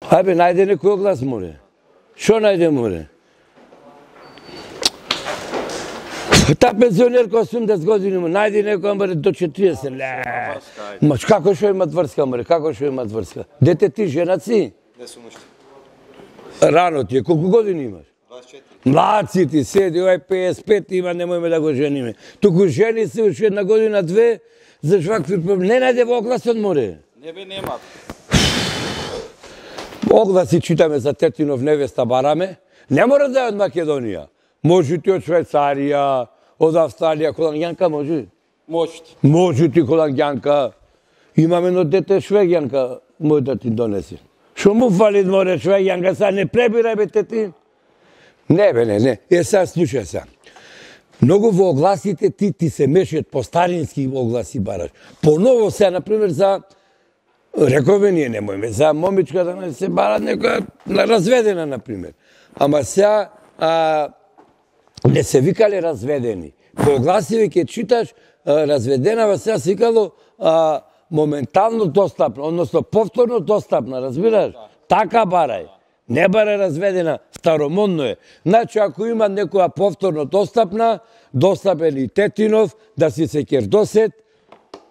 Ајбе, најде некој оглас, море. Шо најде, море? Та пензионерка 80 години, најде некој, море, до 40. Ма како шо имат врска, море? Како шо имат врска? Дете ти, жена си? Не сум уште. Рано ти е, колку години имаш? 24. Млад си ти, седи, ој 55 има, немојме да го жениме. Туку жени се уште една година, две, за швакви проблем. Не најде во огласот, море. Не бе, нема. Огласи читаме за Тетинов невеста бараме. Не мора да е од Македонија. Може ти од Швајцарија, од Австралија, холангјанка може? Можете. Може ти холангјанка. Имаме едно дете швегјанка, може да ти донеси. Шо му фали, море, швегјанка, са не пребирај бе Тетин. Не бе, не. Сега слушај се. Многу во огласите ти се мешат по старински огласи бараш. Поново се, например, за рекове ние немојме, за момичка да не се барат некоја разведена, например. Ама сега не се викале разведени. По огласиве ќе читаш разведена, сега се викало моментално достапна, односно повторно достапна, разбираш? Така барај. Не барај разведена, старомодно е. Значи, ако има некоја повторно достапна, достапен и Тетинов, да си се кердосет,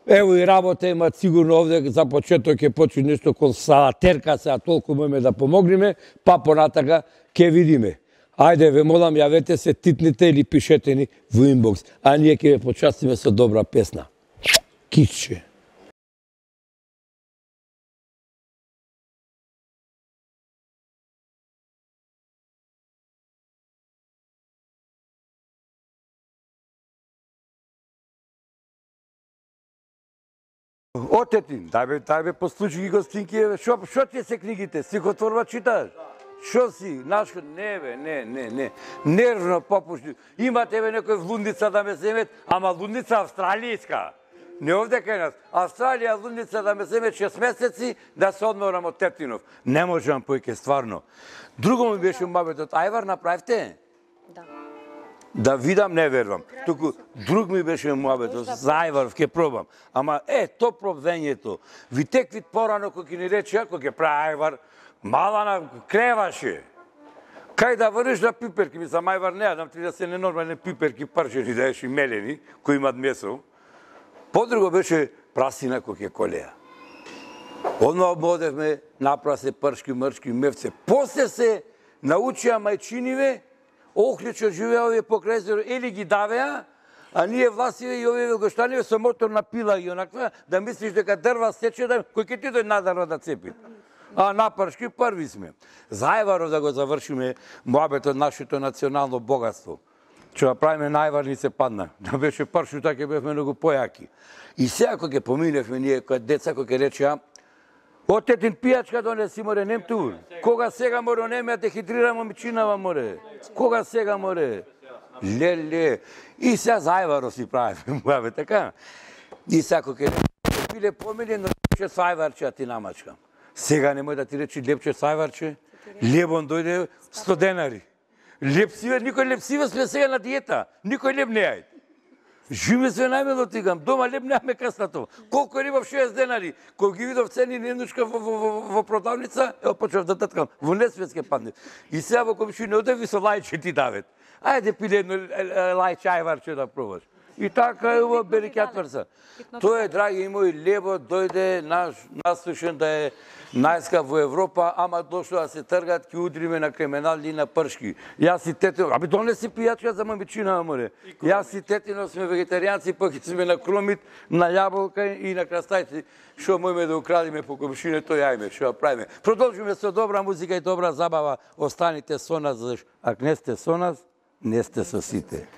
ево и работа имат сигурно овде, за почеток ќе почне нешто кон салатерка, сега толку можеме да помогнеме, па понатака ќе видиме. Ајде, ве молам, јавете се, титните или пишете ни во инбокс, а ние ќе ве почастиме со добра песна. Киче. Отетин, дај бе послуши ги гостинки, шо ти се книгите? Стихотворба читаш? Шо си? Нашко? Не бе, не. Нервно попушти. Имате бе некој в лудница да ме земет, ама лудница австралијска. Не овде кај нас. Австралија лудница да ме земет 6 месеци да се одморам од Тетинов. Не можам појке, стварно. Друго ми беше мабетот, ајвар направивте? Да. Да видам, не верувам. Туку друг ми беше муабетот, за ајвар, ќе пробам. Ама то пробвењето. Ви теквит порано кој ќе ни рече, ако ќе прави ајвар, мала на креваше. Кај да врнеш на пиперки, ми сам ајвар не јадам, ти да се ненормални пиперки, парчени, да еш и мелени, кои имат месо. Подруго беше прасина кој ќе колеа. Одма ободевме, направа се пршки, мршки, мевце. После се научија мајчиниве, охличо живеа овие покрај езеро, или ги давеа, а ние власиве и овие велгоштаниве со мотор на пила и онаква, да мислиш дека дрва сече, кој ќе ти дојде на дрва да цепи. А на пршки први сме. Зајваров да го завршиме муабетот нашето национално богатство. Че да правиме највар ни се падна. Да беше пршу, така бевме многу појаки. И сега кога ќе поминевме ние, кога деца, кога ќе речеа, Отетин пијачка донеси, море, нем ту. Кога сега, море, онеме, дехидрира момичинава, море. Кога сега, море. Леле. И сега зајваро си правиме, муабе, така. И сега кога ќе пиле помилен, рече сајварче, а ти намачкам. Сега немој да ти речи лепче сајварче. Лебон дојде 100 денари. Лепсиве, никој лепсиве сме сега на диета. Никој леп не јај. Живе се најмело тигам, дома леп неаме каснато. Колку рибав 60 денари. Кој ги видов цени ненучка во продавница, почнав да таткам, во несвет ке падне. И сега во комшина одеви со лајче ти давет. Ајде пиле едно лајче ајварче да пробаш. И така е ова бери кјатврца. Тоа е, драги мои, лебо дојде насушен да е најскап во Европа, ама дошло да се тргат, ќе удриме на криминални и на пршки. Јас и Тетино, аби донеси пијачка за момичина, море. Јас и Тетино сме вегетаријанци, пак сме на кромит, на јаболка и на крастајци. Шо можеме да украдиме по комшине, тој јајме, шо правиме. Продолжиме со добра музика и добра забава. Останите со нас, зашто ако не сте со нас, не сте со сите.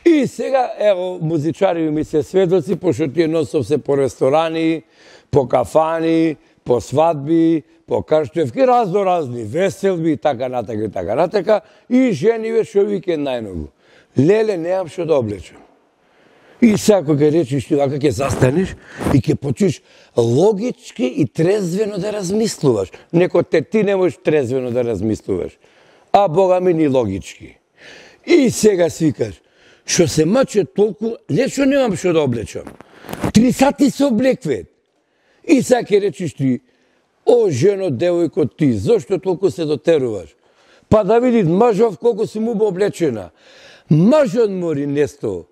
И сега, ево, музичари ми се сведоци, пошто тие носов се по ресторани, по кафани, по свадби, по крштевки, разни веселби и така натака, и жениве шо викенд најногу. Леле, неам што да облечам. И сега кога речиш ти вака ќе застанеш и ќе почнеш логички и трезвено да размислуваш. Некој ти не можеш трезвено да размислуваш, а Бога ми ни логички. И сега свикаш, што се маче толку, не што немам што да облечам. 3 сати се облеквет. И сега ќе речиш ти, о, жено, девојко, ти, зошто толку се дотеруваш? Па да види мажов колку си му облечена. Мажот мори несто.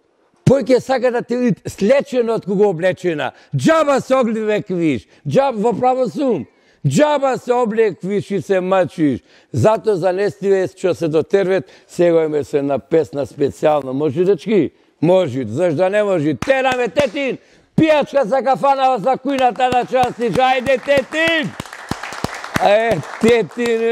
Пој ќе сака да те види слечено од кога облечена. Джаба се облеквиш, джаба во право сум. Джаба се облеквиш и се мачиш. Зато за нестиве што се дотервет, сега име се на песна специјално. Може, дечки? Може, зашто не може? Тераме, Тетин! Пијачка за кафанава за кујната на частиш. Ајде, Тетин! Тетин,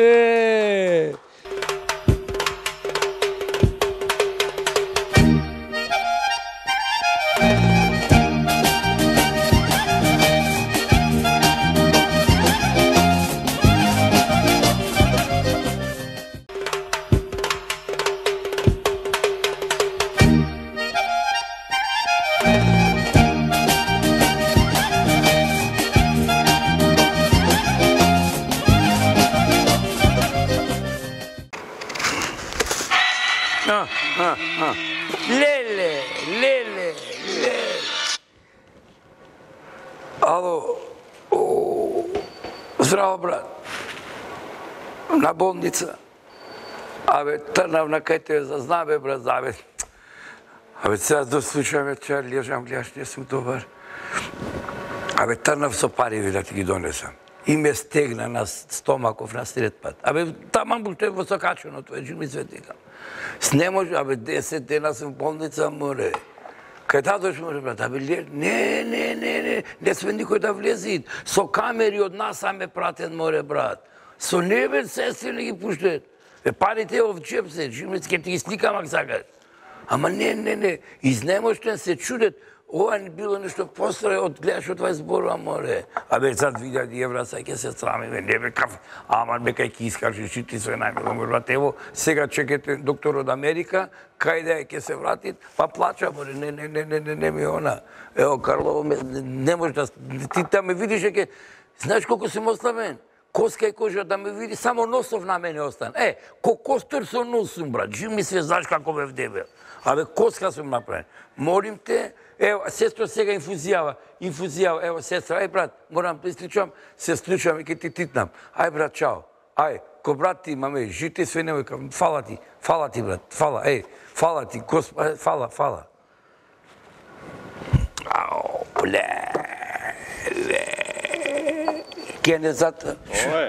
Леле. Ало, здраво, брат. На болница. Абе, трнав на кај те зазнам, бе, брат, абе. Абе, сега дослушаме, че лежам, гледаш, не сум добар. Абе, трнав со пари, да ти ги донесам. И ме стегна на стомаков на сред пат. Абе, таман буште во сокаченото, вече ми светикам. Не може, абе, 10 дена сум в болница, море. Кај татош може, брат, абе, не сме никој да влезит. Со камери од нас ме пратен, море, брат. Со небе сестри не ги пуштет. Парите в джеп се, ќе ти ги сликам ако сакаш. Ама не, изнемоштен се чудет. Ова не било нешто постре од гледаш од 20 зборува, море. Абе, зад 2000 евра, сега ќе се срамиме, не бе каф, ама бе кај ќе искаш, ти се најмило, море. Ево, сега чекате доктор од Америка, кај да ќе се вратит, па плача, море, не ми она. Ево, Карлово, не може да, ти да ме видиш, знаеш колко сум ослабен? Коска и кожа да ме види, само носов на мене остан. Ко костер со нос сум, брат, жив ми се, знаеш како бе вдебел. Абе, коска сум направен. Молим те, ево, сестро сега инфузијава, ево, сестра, брат, морам да исклучам, се склучам и ке ти титнам. Брат, чао. Ко брат ти имаме, жити све немој, фала ти, брат, фала, фала ти, фала. Ау, Кенезата.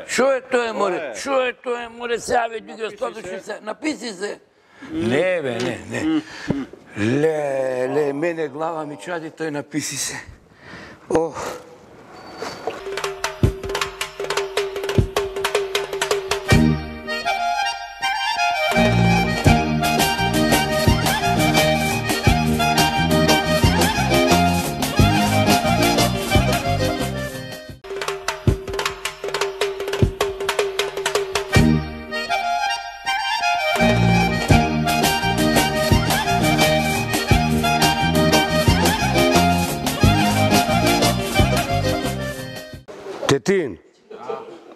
Шо е тоа, море? Сега ве ги остаточи се. Написи се. Не, бе, не. Ле, мене глава ми чади, тој написи се. Тетин,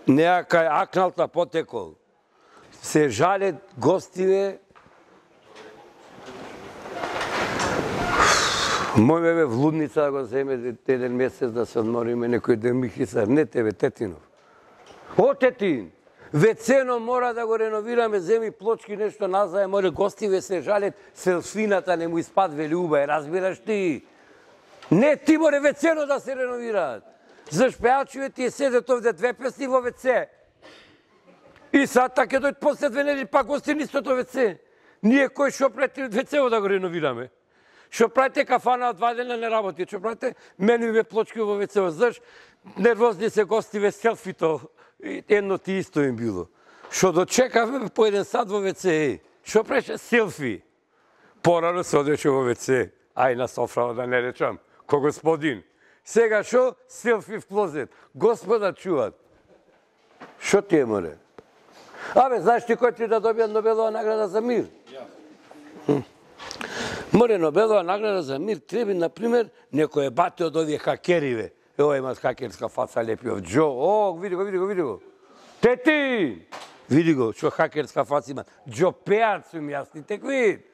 неа кај акналта потекол. Се жалет гостиве. Мојме бе в лудница да го земе еден месец да се одмориме некој ден Михисар. Не тебе, Тетинов. Тетин, вецено мора да го реновираме, земи плочки, нешто назај, море гостиве се жалет, селфината не му испадве љуба, разбираш ти? Не, ти море вецено да се реновираат. Заш пеачиве тие седат овде 2 песни во ВЦ. И сад така дојд после 2 недели пак гости нистото ВЦ. Ние кој шо правите ВЦ-о да го реновираме? Шо правите кафана од 2 дена не работи? Шо правите менуиве плочки во ВЦ-о? Заш нервозни се гостиве селфито? Едно ти исто им било. Шо дочекавме по 1 сат во ВЦ. Шо преше селфи? Порано се одеше во ВЦ. На софрава да не речам. Ко господин. Сега шо? Селфи в клозет. Господа чуват. Шо ти е, море? Знаеш ти кој ти да добија Нобелова награда за мир? Море Нобелова награда за мир треба, например, некој бате од овие хакериве. Ево имат хакерска фаца лепи од Джо. О, види го. Тети! Види го, што хакерска фаца има. Джо пеат сум јасни, тек вид.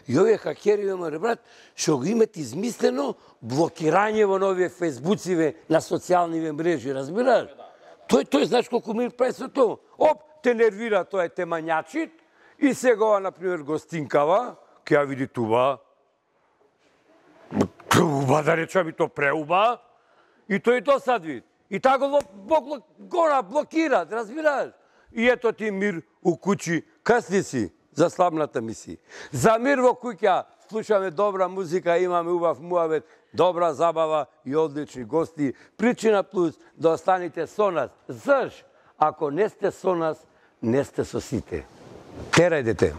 И овие хакериве, море брат, што го имат измислено блокирање во новие фейсбуциве на социјалниве мрежи, разбираш? Тој знаеш колку мир прави со тоа. Оп, те нервира тоа те мањачит и сега, например, гостинкава, ке ја види туба. Преуба, да речам и то преуба. И тој досад вид. И така го блокира, разбираш? И ето ти мир у куќи. Касни си за славната мисија. За мир во куќа слушаме добра музика, имаме убав муавет, добра забава и одлични гости. Причина плюс да останете со нас. Заш, ако не сте со нас, не сте со сите. Терај дете.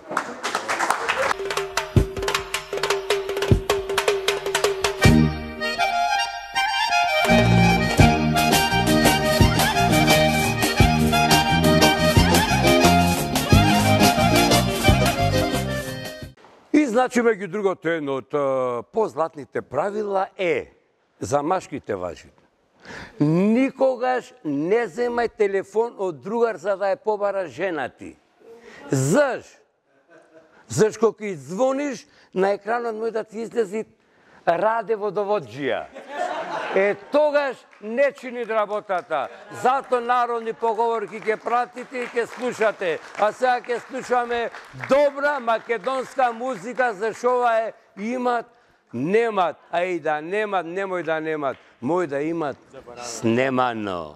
И значи меѓу другото едно од позлатните правила за машките важи. Никогаш не земај телефон од другар за да ја побара жена ти. Заш? Заш кога извониш, на екранот може да ти излези Раде водоводжија. Тогаш не чини работата. Зато народни поговорки ќе пратите и ќе слушате. А сега ќе слушаме добра македонска музика, зашто ова имат, немат. А и да немат, немој да немат. Мој да имат снемано.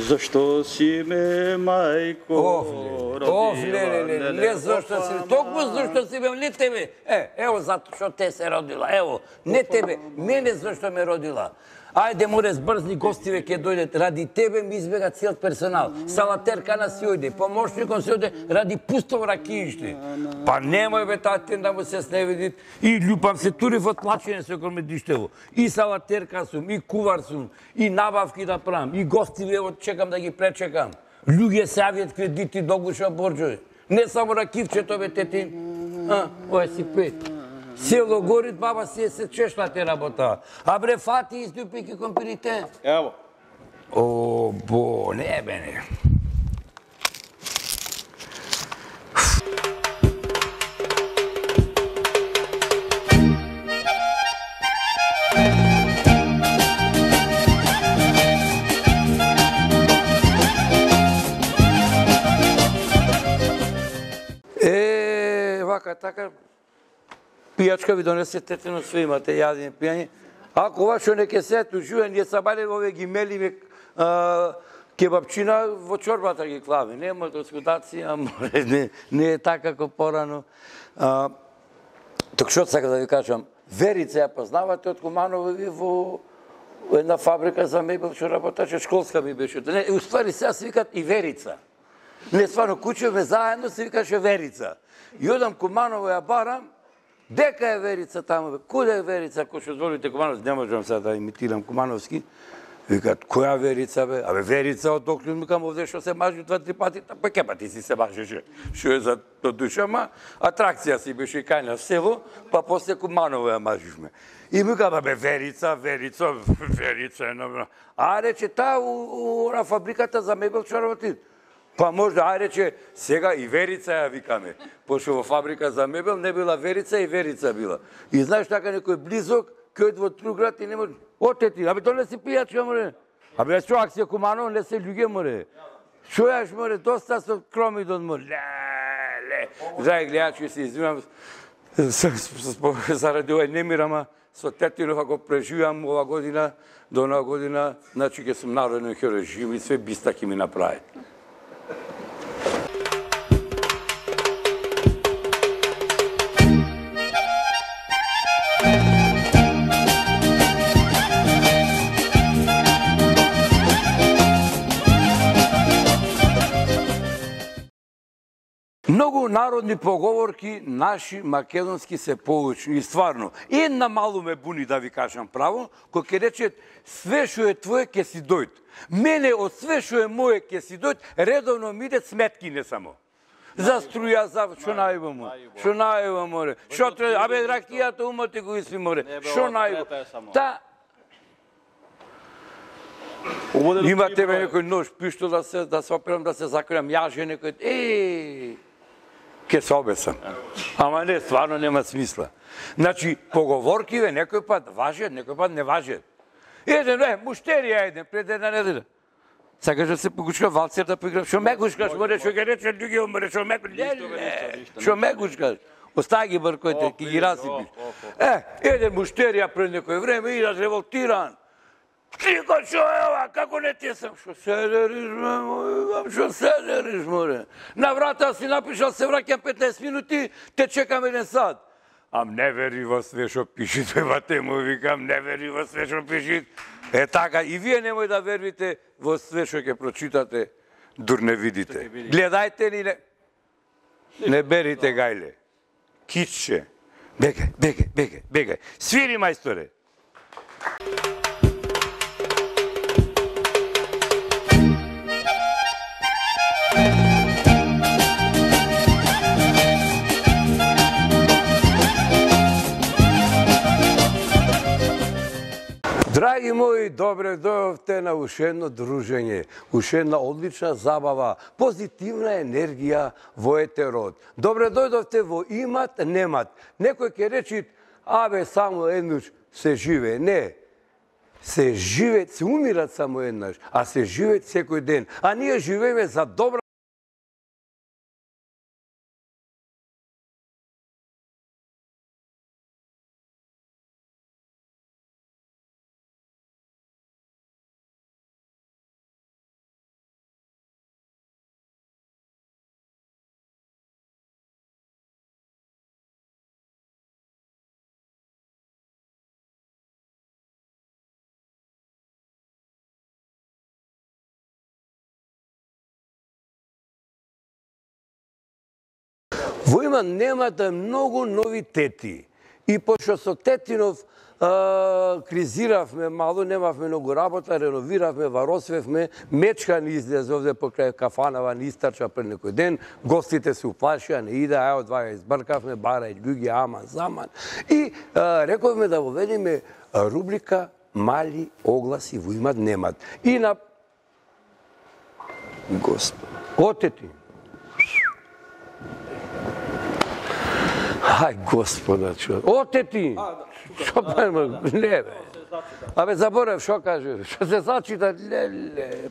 Зашто си ме, мајко? Не зашто си, толку зашто си ме, не тебе. Ево зато што те се родила, ево, не тебе, мене зашто ме родила. Ајде, море, збрзни гостиве ќе дојдат. Ради тебе ми избега цел персонал. Салатеркана си ојде, помошником си ојде, ради пусто ракииште. Па немој бе татин да му се сневидит. И љупам се тури во тлачење со комедиштево. И салатерка сум, и кувар сум, и набавки да правам, и гостиве, ево чекам да ги пречекам. Луѓе се јавиат кредити до гуша борџови. Не само ракивчето бе тетин. Ова си пет. Село горит, баба си се чешла те работа. А бре, фати издупики компирите. Ево. О, бо, не бе, не. Вака, така, пијачка ви донесе тетино, све имате, јадење, пијање. Ако ова што не ке се тужуе, ние сабале ове ги мелиме кебапчина во чорбата ги клаве. Нема доскудација, не е така како порано. Ток што сака да ви кажам, Верица ја познавате од Куманово ви во една фабрика за мебел што работеше, школска ми беше. Уствари сега се викат и Верица. Не, стварно, кучевме заедно се викаше Верица. И одам Куманово ја барам, дека е Верица таму, куде е Верица, ако што зволите Кумановски, не можам сега да имитирам Кумановски. Викат, која Верица бе? Абе, Верица од Оклюн, микам овде што се мажи 2-3 пати, па ке пати си се мажеше. Што е за душа, ма атракција си беше кај на село, па после Куманово ја мажишме. И микам, абе, Верица е набра. А рече, таа на фабриката за мебел што работи. Па можда, рече, сега и Верица ја викаме. Пошто во фабрика за мебел не била Верица и Верица била. И знаеш така некој близок, кој во Труград и не може... Отети, абе, то не си пијачка, море. Абе, што акција Куманово, не се љуѓе, море. Што јаш, море, доста со кромидон, море. Ле. Драги гледачи, се извинам, заради овај немир, ама со тетинов, ако преживам ова година, до нова година, значи ќе сум народен херој, жив и све бистаки ми направи. Многу народни поговорки наши македонски се поучни и стварно. Една малу ме буни да ви кажам право, кој ќе рече све што е твое ќе си дојд. Мене од све што е моje ќе си дојд, редовно ми идет сметки не само. За струја, за што најба му. Што најба море. Што треба, абе ракијата умоти го иси море. Што најба. Та има тебе некој нож, пишто да се операм, да се закрем, јаже некој, ке се обесам. Ама не, стварно нема смисла. Значи, поговоркиве некој пат важат, некој пат не важат. Еден, муштерија еден, пред една неделя. Сакаш да се погучка валцер да поиграм, шо ме гучкаш, море, шо ке рече, луѓе, море, шо ме гучкаш, шо ме гучкаш. Остави ги бркојте, ки ги расипиш. Еден муштерија пред некој време, идат револтиран. Тико, шо е ова, како не ти сам? Шо седериш, мој, шо седериш, море? На врата си напишал, се враќам 15 минути, те чекам 1 сат. Ам не вери во све шо пишит, бате му викам, не вери во све шо пишит. Така, и вие немој да вервите во све шо ќе прочитате, дур не видите. Гледајте ли не? Не берите гајле. Кичче. Бегај, бегај, бегај, бегај. Свири, мајсторе. Драги мои, добре дојдовте на уште едно дружење, уште една одлична забава, позитивна енергија во етерот. Добре дојдовте во имат, немат. Некој ќе речи, абе, само еднаш се живее. Не, се живее, се умират само еднаш, а се живеат секој ден. А ние живееме за добра Во има немате многу новитети. И пошто со Тетинов кризиравме мало, немавме многу работа, реновиравме, варосвевме, Мечкан излезе овде покрај кафанава, ни истрча пред некој ден, гостите се уплашија, не иде, ај од ваја избркавме, барај, ѓуѓи, аман, заман. И рековме да воведеме рубрика Мали огласи во имат, немат. И на Господ, отети. Ај, Господа, човек. Отети! Шо пајма? Не, бе. Абе, заборев, шо каже? Шо се зачита? Леле.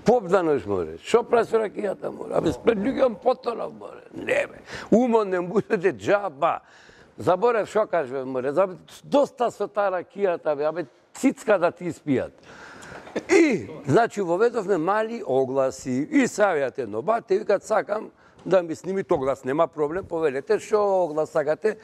Попданеш, море. Шо прави со ракијата, море? Абе, спред луѓем потонав, море. Не, бе. Умон не будете джаба. Заборев, шо каже, море? Доста со таа ракијата, бе. Абе, цицка да ти испијат. И, значи, воведовме мали огласи. И савјат едно бате, викат, сакам да ми снимите оглас, нема проблем, повелете, шо оглас сакате?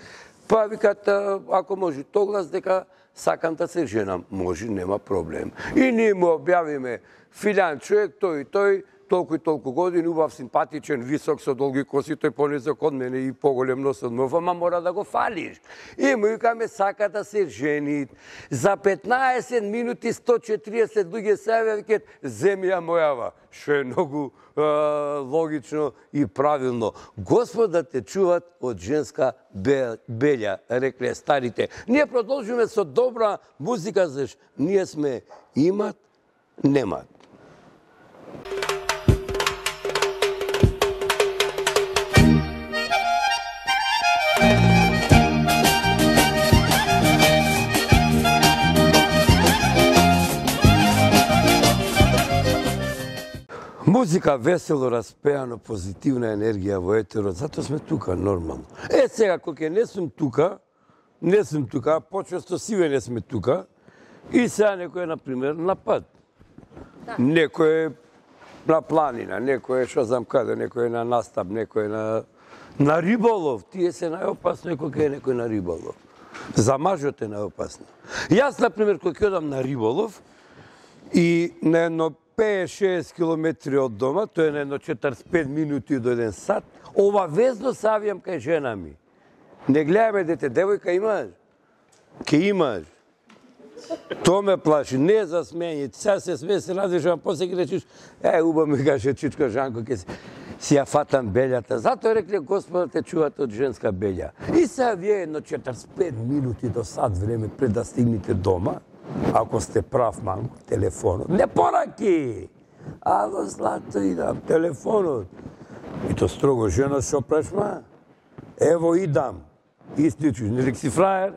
Па викат, ако може оглас, дека сакам да се женам. Може, нема проблем. И ние му објавиме филјан човек, тој, толку и толку години, убав, симпатичен, висок, со долги коси, тој понизок од мене и поголем нос од мој, ама мора да го фалиш. И му викаме, сака да се жени. За 15 минути 140 луѓе се јавија, викат, земја мојава. Што е многу логично и правилно. Господ да те чуват од женска белја, рекле старите. Ние продолжиме со добра музика, заш ние сме имат, немат. Музика весело, распеано, позитивна енергија во етерот, затоа сме тука, нормално. Сега, кога не сум тука, почесто сиве не сме тука, и сега некој е, например, на пат. Некој е на планина, некој е, шо знам каде, некој е на настап, некој е на риболов. Тие се најопасно кога е некој на риболов. За мажот е најопасно. Јас, например, кога ќе одам на риболов, и на едно 5-6 километри од дома, тоа е на едно 45 минути до 1 сат, обавезно се авијам кај жена ми. Не гледаме дете, девојка имаш? Ке имаш. То ме плаши, не за смење. Сега се смее, се радиш, а после ги речиш, уба ми каже чичко Жанко, ке си ја фатам белјата. Затоа рекле, Господа те чувате од женска белја. И сега вие едно 45 минути до сат време пред да стигнете дома, ако сте прав, мамко, телефонот. Не пораки! Ало, злато, идам, телефонот. И то строго, жена, шо правиш, ма? Ево, идам. Истичиш, нели си фраер?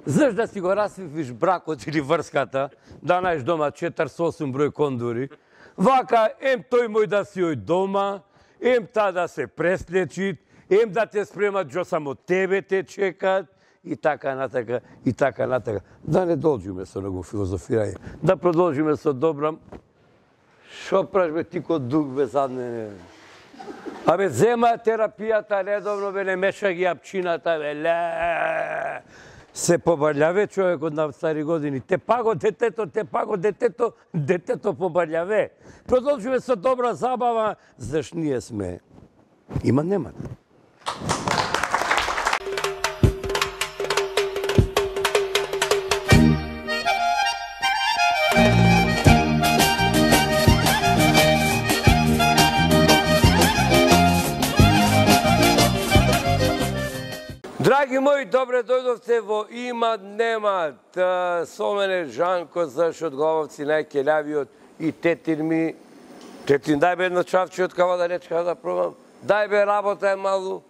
Знаеш да си го расвивиш бракот или врската, да најш дома 48 број кондури, вака, ем тој мој да си ој дома, ем та да се преслечит, ем да те спремат, джо само тебе те чекат, и така натака, и така натака. Да не должиме со него филозофирање, да продолжиме со добрам. Шо праш бе ти ко дуг бе задне? Абе, зема терапијата редовно, бе, не меша ги апчината, бе, ле. Се побалјаве човекот на стари години. Те паго детето, детето побалјаве. Продолжиме со добра забава, заш ние сме. Има нема. Драги мои, добре дојдовте во Имат Немат. Со мене Жанко за Шотгововци, најкелјавиот, и тетин ми. Тетин, дај бе едно чавче од кава да речка да пробам. Дај бе, работа е малу.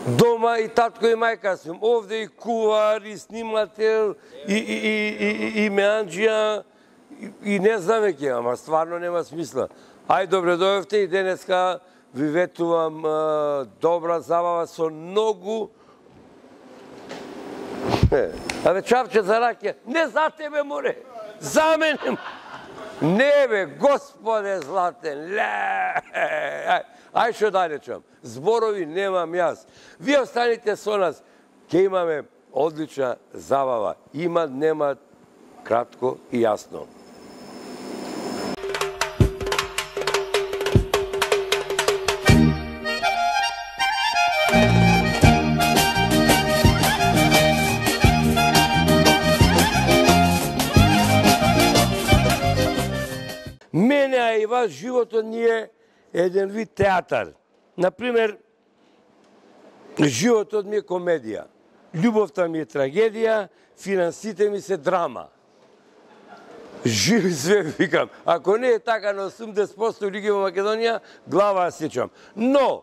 Дома и татко и мајка сум. Овде и кувар, и снимател, и меанџија, и не знам веќе, ама стварно нема смисла. Ај, добре дојдовте и денеска ви ветувам добра забава со многу... Абе, чавче за ракија, не за тебе, море, за мене. Не бе, Господе златен, ај шо да речам, зборови немам јас. Вие останите со нас, ќе имаме одлична забава. Имат, немат, кратко и јасно. Мене, а и вас, животот ни е еден вид театар. Например, животот ми е комедија, љубовта ми е трагедија, финансите ми се драма. Живи све, викам. Ако не е така на 80% луѓе во Македонија, глава сечам. Но,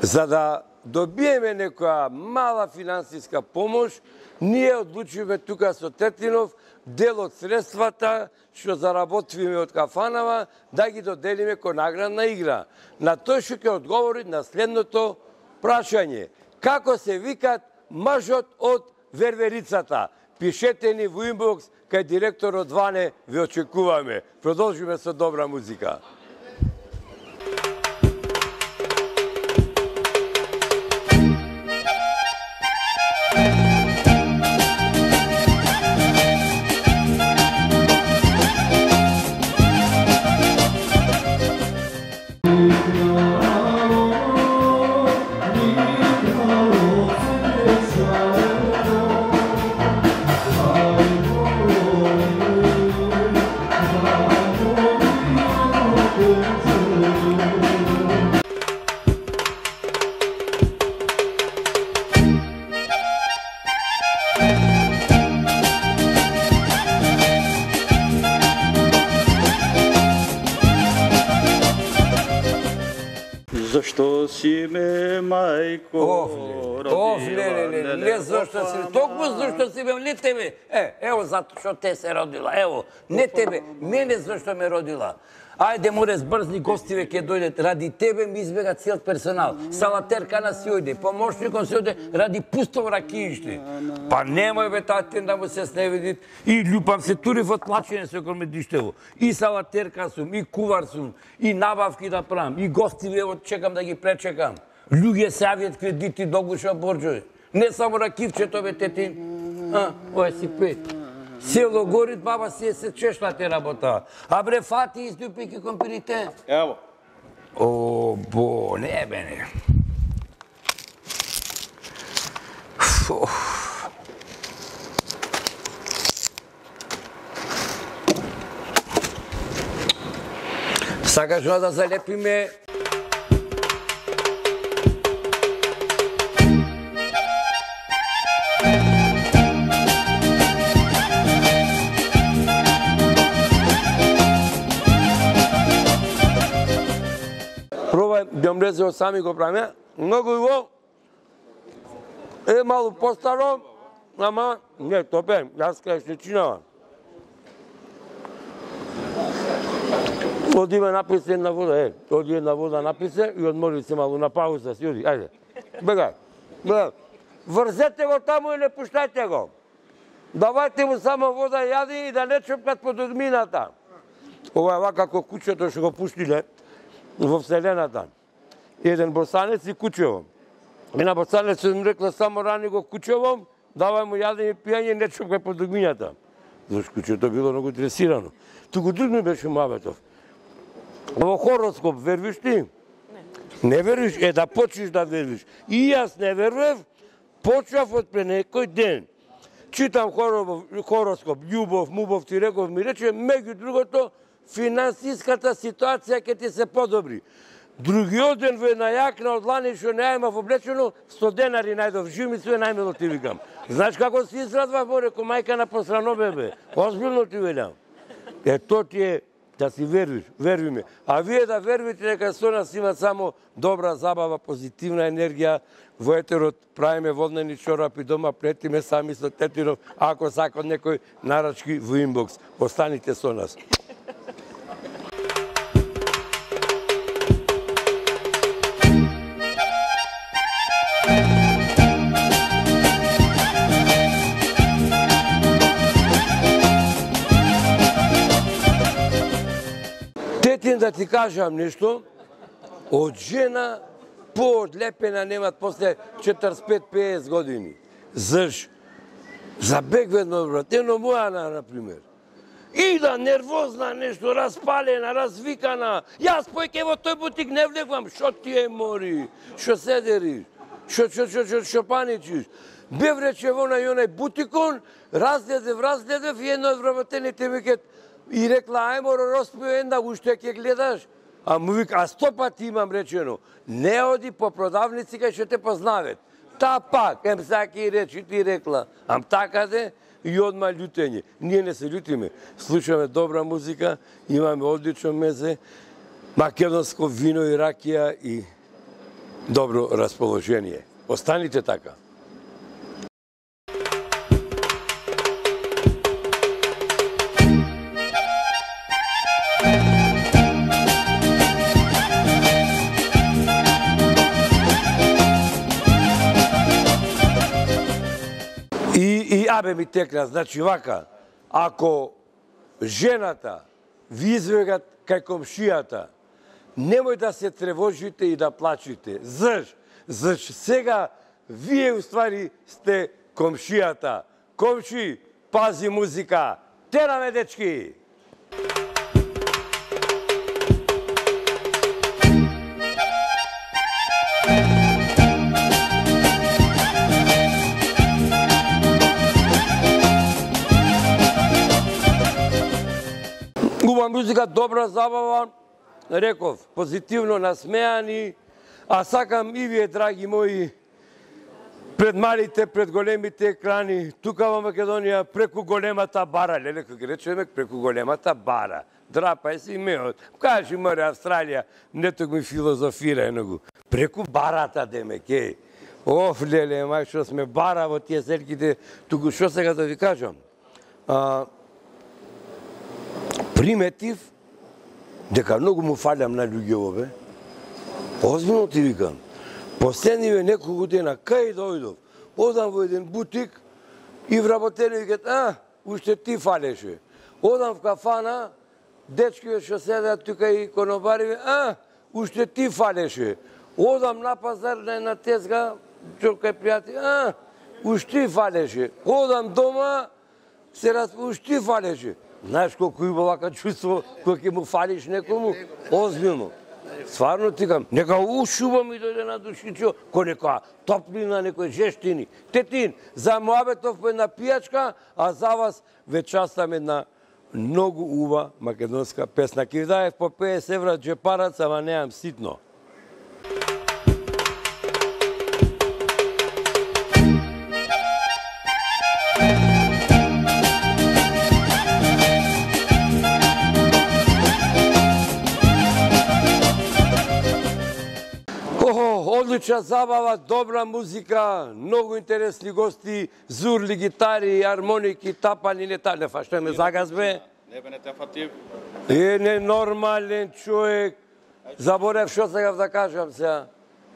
за да добиеме некоја мала финансиска помош, ние одлучиме тука со Тетинов дел од средствата што заработиме од кафанава да ги доделиме ко наградна игра. На тој што ќе одговори на следното прашање. Како се викат мажот од верверицата? Пишете ни во инбокс, кај директорот Ване ве очекуваме. Продолжиме со добра музика. Зашто си ме, мајко, родила? Не зашто си, токму зашто си ме, не тебе. Ево зато што те се родила, ево, не тебе, мене зашто ме родила. Ајде, море, збрзни гостиве ќе дојдат. Ради тебе ми избега цел персонал. Салатерка на си ојде, помошникот си ојде ради пусто ракииште. Па немој бе татен да му се сневидит. И љупам се тури во тлачење со комедиштево. И салатерка сум, и кувар сум, и набавки да правам, и гостиве чекам да ги пречекам. Луѓе се авијат кредити до гуша борџови. Не само ракивчето бе тетин. Ој си пет. Село Горит, баба си се чешла те работа. А бре, фати издупики компирите. Ево. О, бо, не бе, не. Сакаш да залепиме пробај да млезе сами го правиме. Многу иво е малку постаро, ама не, топе, јас кај се чинава. Оди ме написе една вода, оди една вода написе и одмори се малку на пауза си, оди, ајде. Бегај, бегај. Врзете го таму и не пуштајте го. Давајте му само вода јади и да не чупкат под одмината. Ова е вака како кучето што го пуштиле во Вселената. Еден босанец и кучево. Една босанец им рекла само рани го кучево, давај му јадење и пијање, не чупкај под одмината. Зашто кучето било многу дресирано. Туку друг ми беше муабетов. Во хороскоп вервиш ти? Не вервиш? Да почнеш да вервиш. И јас не вервев, почнав од пред некој ден. Читам хороскоп, љубов, мубов, ти реков, ми рече, меѓу другото, финансиската ситуација ќе ти се подобри. Другиот ден во една јакна од лани што не имав облечено, 100 денари најдов, жив ми све најмило ти викам. Знаеш како се израдвав, бо реко, мајка на посрано бебе. Озбилно ти велам. То ти е да си вервиш, верви ме. А вие да вервите дека со нас има само добра забава, позитивна енергија. Во етерот правиме воднени чорапи дома, плетиме сами со тетиров. Ако сакат некој нарачки во инбокс, останите со нас. Тетин да ти кажам нешто, од жена поодлепена немат после 45-50 години. Заш? Забегвено брат, ено мојана, например. И да нервозна нешто, распалена, развикана. Јас појке во тој бутик не влегвам. Шо ти е мори? Шо седериш? Шо паничиш? Бев рече во онај бутикон, разгледев и едно од вработените викет и рекла, ај моро роспио една, уште ќе гледаш? А му вика, а 100 пати имам речено, не оди по продавници кај што те познавет. Та пак, саки речи ти рекла, ам така де и одма љутење. Ние не се љутиме, слушаме добра музика, имаме одлично мезе, македонско вино и ракија и добро расположение. Останите така. И абе ми текна, значи вака, ако жената ви извегат кај комшијата, немој да се тревожите и да плачите. Заш сега вие уствари сте комшијата. Комши, пази музика. Тераме, дечки! Убава музика, добра забава, реков, позитивно насмеани, а сакам и вие, драги мои, пред малите, пред големите екрани, тука во Македонија, преку големата бара, леле, како речеме, преку големата бара. Драпај си меот. Кажи, море, Австралија, не ток ми филозофира еногу. Преку барата, демек, е. Оф, леле, мај, што сме бара во тие селките, туку што сега да ви кажам? Приметив дека многу му фалям на луѓево, бе. Озбилно ти викам. Последниве неколку дена, кај дојдов, одам во еден бутик и вработени викат, уште ти фалеше. Одам в кафана, дечкиве што седат тука и конобариве, уште ти фалеше. Одам на пазар на една тезга, кај пријатели, уште ти фалеше. Одам дома, се уж ти фалеше. Знаеш колко има вака чувство кога ќе му фалиш некому? Озбилно. Стварно ти кам, нека ушуба ми дојде на душичо, кој нека топлина, некој жештини. Тетин, за муабетов по една пијачка, а за вас вечастам една многу ува македонска песна. Ки даев по 50 евра джепарац, ама неам ситно. Одлична забава, добра музика, многу интересни гости, зурли, гитари, армоники, тапани, не фашта ме загазбе. Не бе, не те фати. Ненормален човек. Заборев што сакав да кажам сега.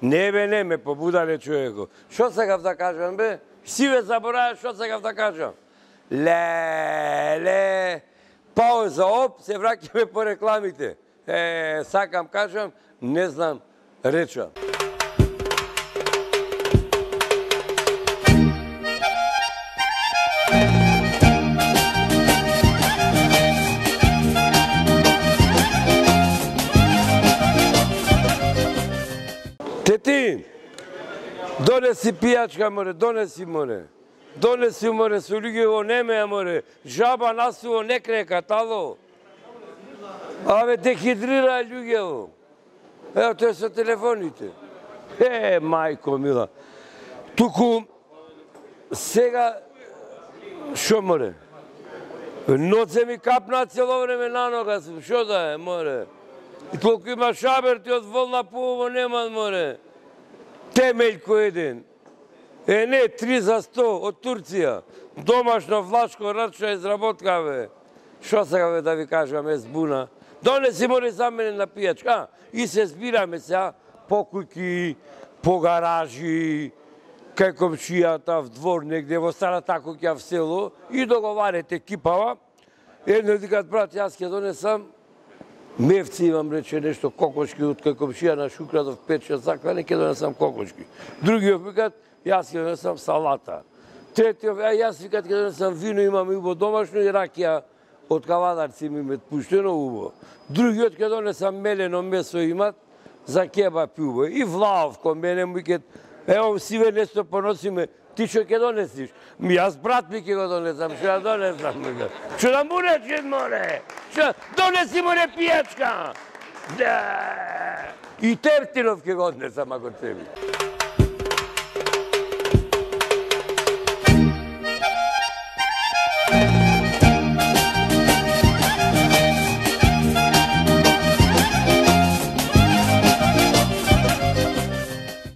Не бе, не ме побудале човеко. Што сакав да кажам бе? Си бе забораваш што сакав да кажам. Ле. Пауза, оп, се враќаме по рекламите. Сакам кажам, не знам, речам. Тетин, донеси пијачка, море, донеси, море. Донеси, море, со луѓе во немеја, море. Жаба насуво не крека, тало. Абе, дехидрира луѓе. Ево, тоа со телефоните. Мајко мила. Туку, сега, шо, море? Ноце ми капна цело време на нога, шо да е, море? И толку има шаберти од волна по-ово нема, море. Темељко еден. Не, 3 за 100 од Турција. Домашно влашко рачна изработка, бе. Шо сега, бе, да ви кажам, збуна? Донеси, море, за мене на пијачка. И се збираме сега по куќи, по гаражи, кај комшијата, в двор негде, во старата куќа в село, и договарете кипава. Едно дикат, брат, јас ќе донесам мевци, имам рече нешто кокошки од кај комшија на Шукрадов 5-6 заклане, ќе донесам кокошки. Другиот викат, јас ќе донесам салата. Третиот, јас викат ќе донесам вино, имам убо домашно и ракија од кавадарци ми мет пуштено убо. Другиот ќе донесам мелено месо имат за кебап убо. И Влаов кон мене му викат, ево сиве нешто поносиме, ти што ќе донесиш? Јас брат ми ќе го донесам, што ја донесам, викат. Што да му речем, море? Што? Донеси, море, пијачка! Да! И Тертинов ќе го однесам, ако тебе.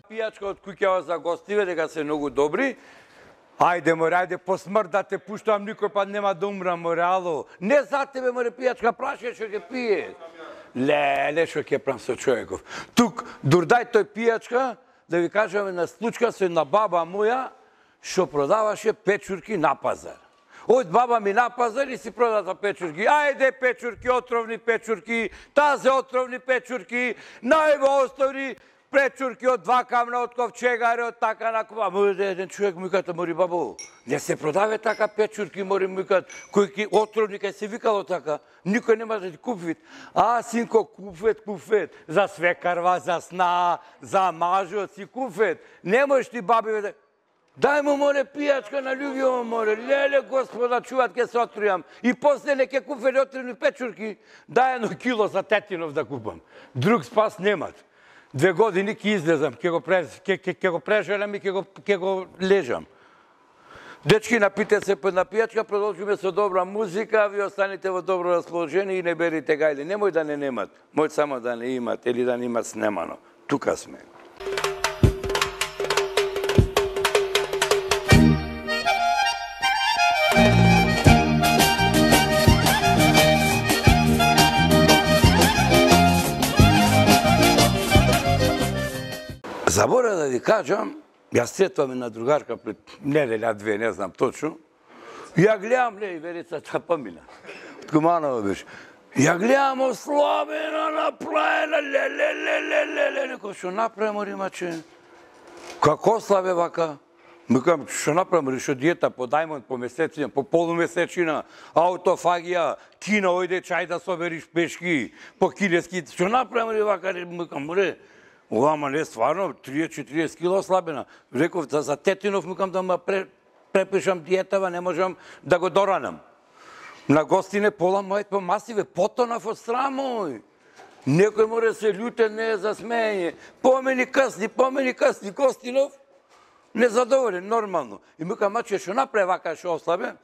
Пијачка од куќава за гостиве, дека се многу добри. Ајде, море, ајде, по смрт да те пуштам, никој пат нема да умрам, море, ало. Не за тебе, море, пијачка, прашај што ќе пие. Леле, што ќе прам со човеков. Тук, дурдај тој пијачка, да ви кажам една случка со една баба моја, што продаваше печурки на пазар. Од баба ми на пазар и си продата печурки. Ајде, печурки, отровни печурки, тазе отровни печурки, најво остори печурки од 2 камна, од ковчегари, од така на кова. Еден човек му викат, мори бабо, не се продаве така печурки, мори му викат, кој отровни, кај се викало така, никој нема да ти купвит. Синко, купвет, за свекарва, за сна, за мажот си купвет. Не можеш ти баби, дај му, море, пијачка на луѓето, море, леле, господа, чуват, ке се отрујам. И после не ке купвели отровни печурки, дај 1 кило за Тетинов да купам. Друг спас немат. 2 години ќе излезам, ќе го прежелам и ќе го лежам. Дечки, напите се по една пијачка, продолжиме со добра музика, ви останете во добро расположение и не берите гајле. Немој да не немат, мој само да не имат или да не имат снемано. Тука сме. Забора да ви кажам, јас сретвам една другарка пред неделја, 2, не знам точно. Ја гледам, ле, Верицата помина. Од Куманова беше. Ја гледам ослабена, направена, ле. Некој што направи, моримаче. Како слабе вака? Микам, што направам, решо диета по дајмон, по месецина, по полумесечина, аутофагија, кино, ојде чај да собериш пешки, по кинески, што направам, вака, микам, море, ама не стварно, 30-40 кило ослабена. Реков, за Тетинов, микам, да ма препишам диетава, не можам да го доранам. На гостине пола мојот по масиве, потонав од срамој. Некој море се љутен, не е за смење. Помени касни, Гостинов, незадоволен, нормално. И микам, маче, што направи вака, што ослабе?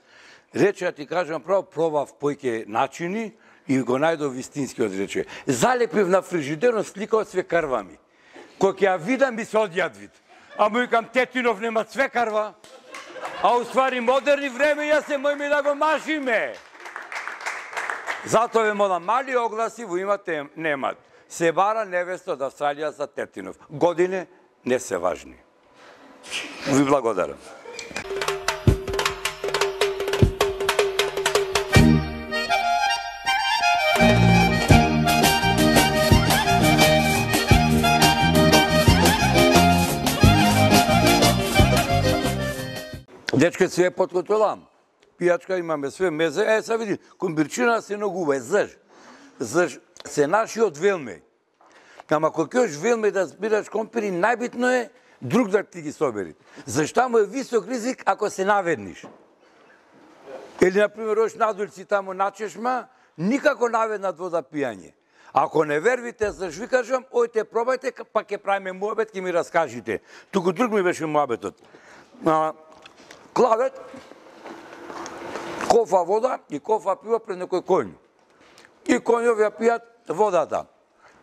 Рече, ти кажам право, пробав појке начини и го најдов вистинскиот, рече. Залепив на фрижидерот слика од свекарва ми. Кој ќе ја видам, ми се одјад вид. А му викам, Тетинов нема свекарва. А уствари модерни време, јас се мојме да го машиме. Затоа ве молам, мали огласи во имате немат. Се бара невеста од Австралија за Тетинов. Године не се важни. Ви благодарам. Дечке све подкотолам. Пијачка имаме све мезе. Са види, комбирчина се ногува. Заш се нашиот велме. Ама кој кеош велме да збираш компири, најбитно е друг да ти ги собери. Зашто му е висок ризик ако се наведниш. Или, например, ош надулци таму на чешма, никако наведнат вода пијање. Ако не вервите, заш ви кажам, ојте пробајте, па ќе правиме муабет, ќе ми раскажите. Туку друг ми беше муабетот. Клавет, кофа вода и кофа пива пред некој коњ. И коњови ја пијат водата.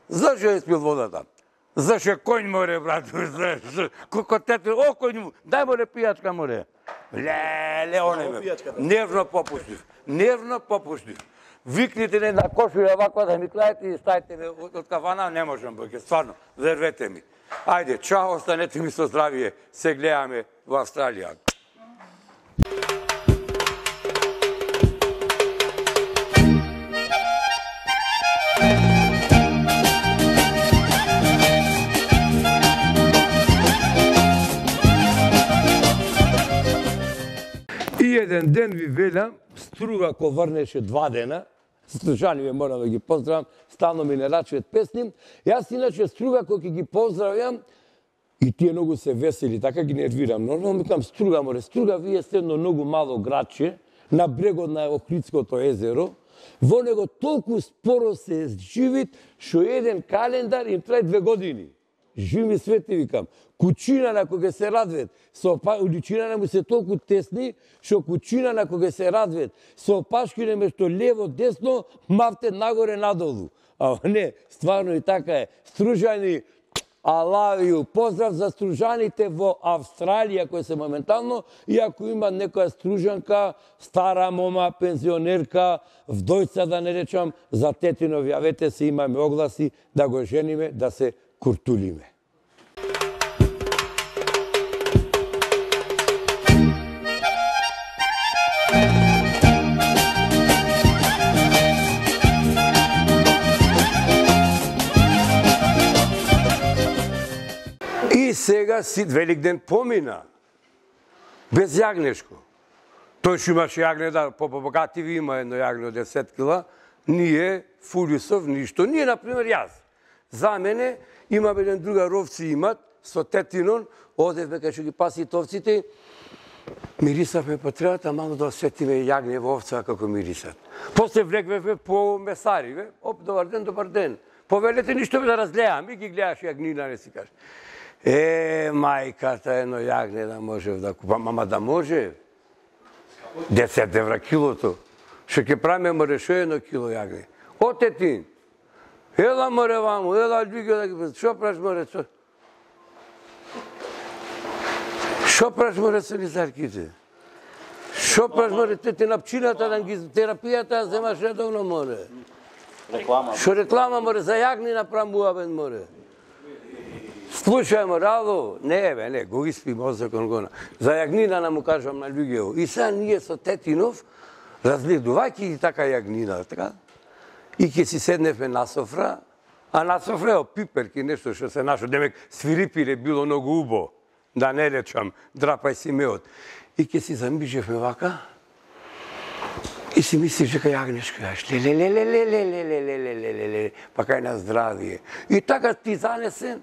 Зашо ја испил водата? Зашо коњ море, брат, Коко тете, о коњ, дај море пијачка море. Леле, оне ме. Нервно попуштив. Викните не на кошуја вако да ми клајте и стајте ме од кафана, не можам, бăке, стварно, вервете ми. Ајде, чао, останете ми со здравие, се гледаме во Австралија. И еден ден ви велам, Струга ко врнеше 2 дена, слушани ме морам да ги поздравам, стално ми не рачуват песни. Јас иначе Струга кој ќе ги поздравјам, и тие многу се весели, така ги нервирам. Нормално микам, Струга море, Струга, вие сте едно многу мало градче, на брегот на Охридското езеро, во него толку споро се живит, што еден календар им трае 2 години. Живи свети, викам. Кучина на кога се радвет, уличина на му се толку тесни, што кучина на кога се радвет, со опашкине мешто лево, десно, мавте нагоре, надолу. А не, стварно и така е. Стружани, алавију, поздрав за стружаните во Австралија, кои се моментално, и ако има некоја стружанка, стара мома, пензионерка, вдојца да не речам, за Тетинов, јавете се, имаме огласи, да го жениме, да се куртулиме. И сега Сит Великден помина. Без јагнешко. Тој што имаше јагне, да, по-богативи има едно јагне од 10 кила, ние, Фулисов, ништо. Ние, например, јас. За мене, имам еден друга ровци имат, со Тетинон, одевме кај што ги паси овците, мирисавме по требата, мало да осетиме јагне во овца како мирисат. После влегвевме по месариве, оп, добар ден, повелете ништо да разгледам, и ги гледаш јагнина, не си кажеш. Мајката, едно јагне да можев да купам, ама да може, 10 евра килото, што ќе правиме море шо едно кило јагне. О, Тетин, ела море ваму, ела луѓе да ги шо праш море, шо праш море со лизарките? Шо праш море, те напчината, терапијата земаш редовно море. Шо реклама море, за јагни направуваме море. Слушај море, ало, не, го испи мозокон гона. За јагнина нам му кажам на луѓето. И сега ние со Тетинов, разгледувајќи и така јагнина, така, и ќе си седневме на софра, а на софра е пиперки, нешто што се нашо, демек свирипире било многу убо. да не речам, драпај си меот. И ке си замижевме вака, и си мислиш дека јагнешко јаш, лелелелелелелелелелелелелелелеле, па кај на здравие. И така ти занесен.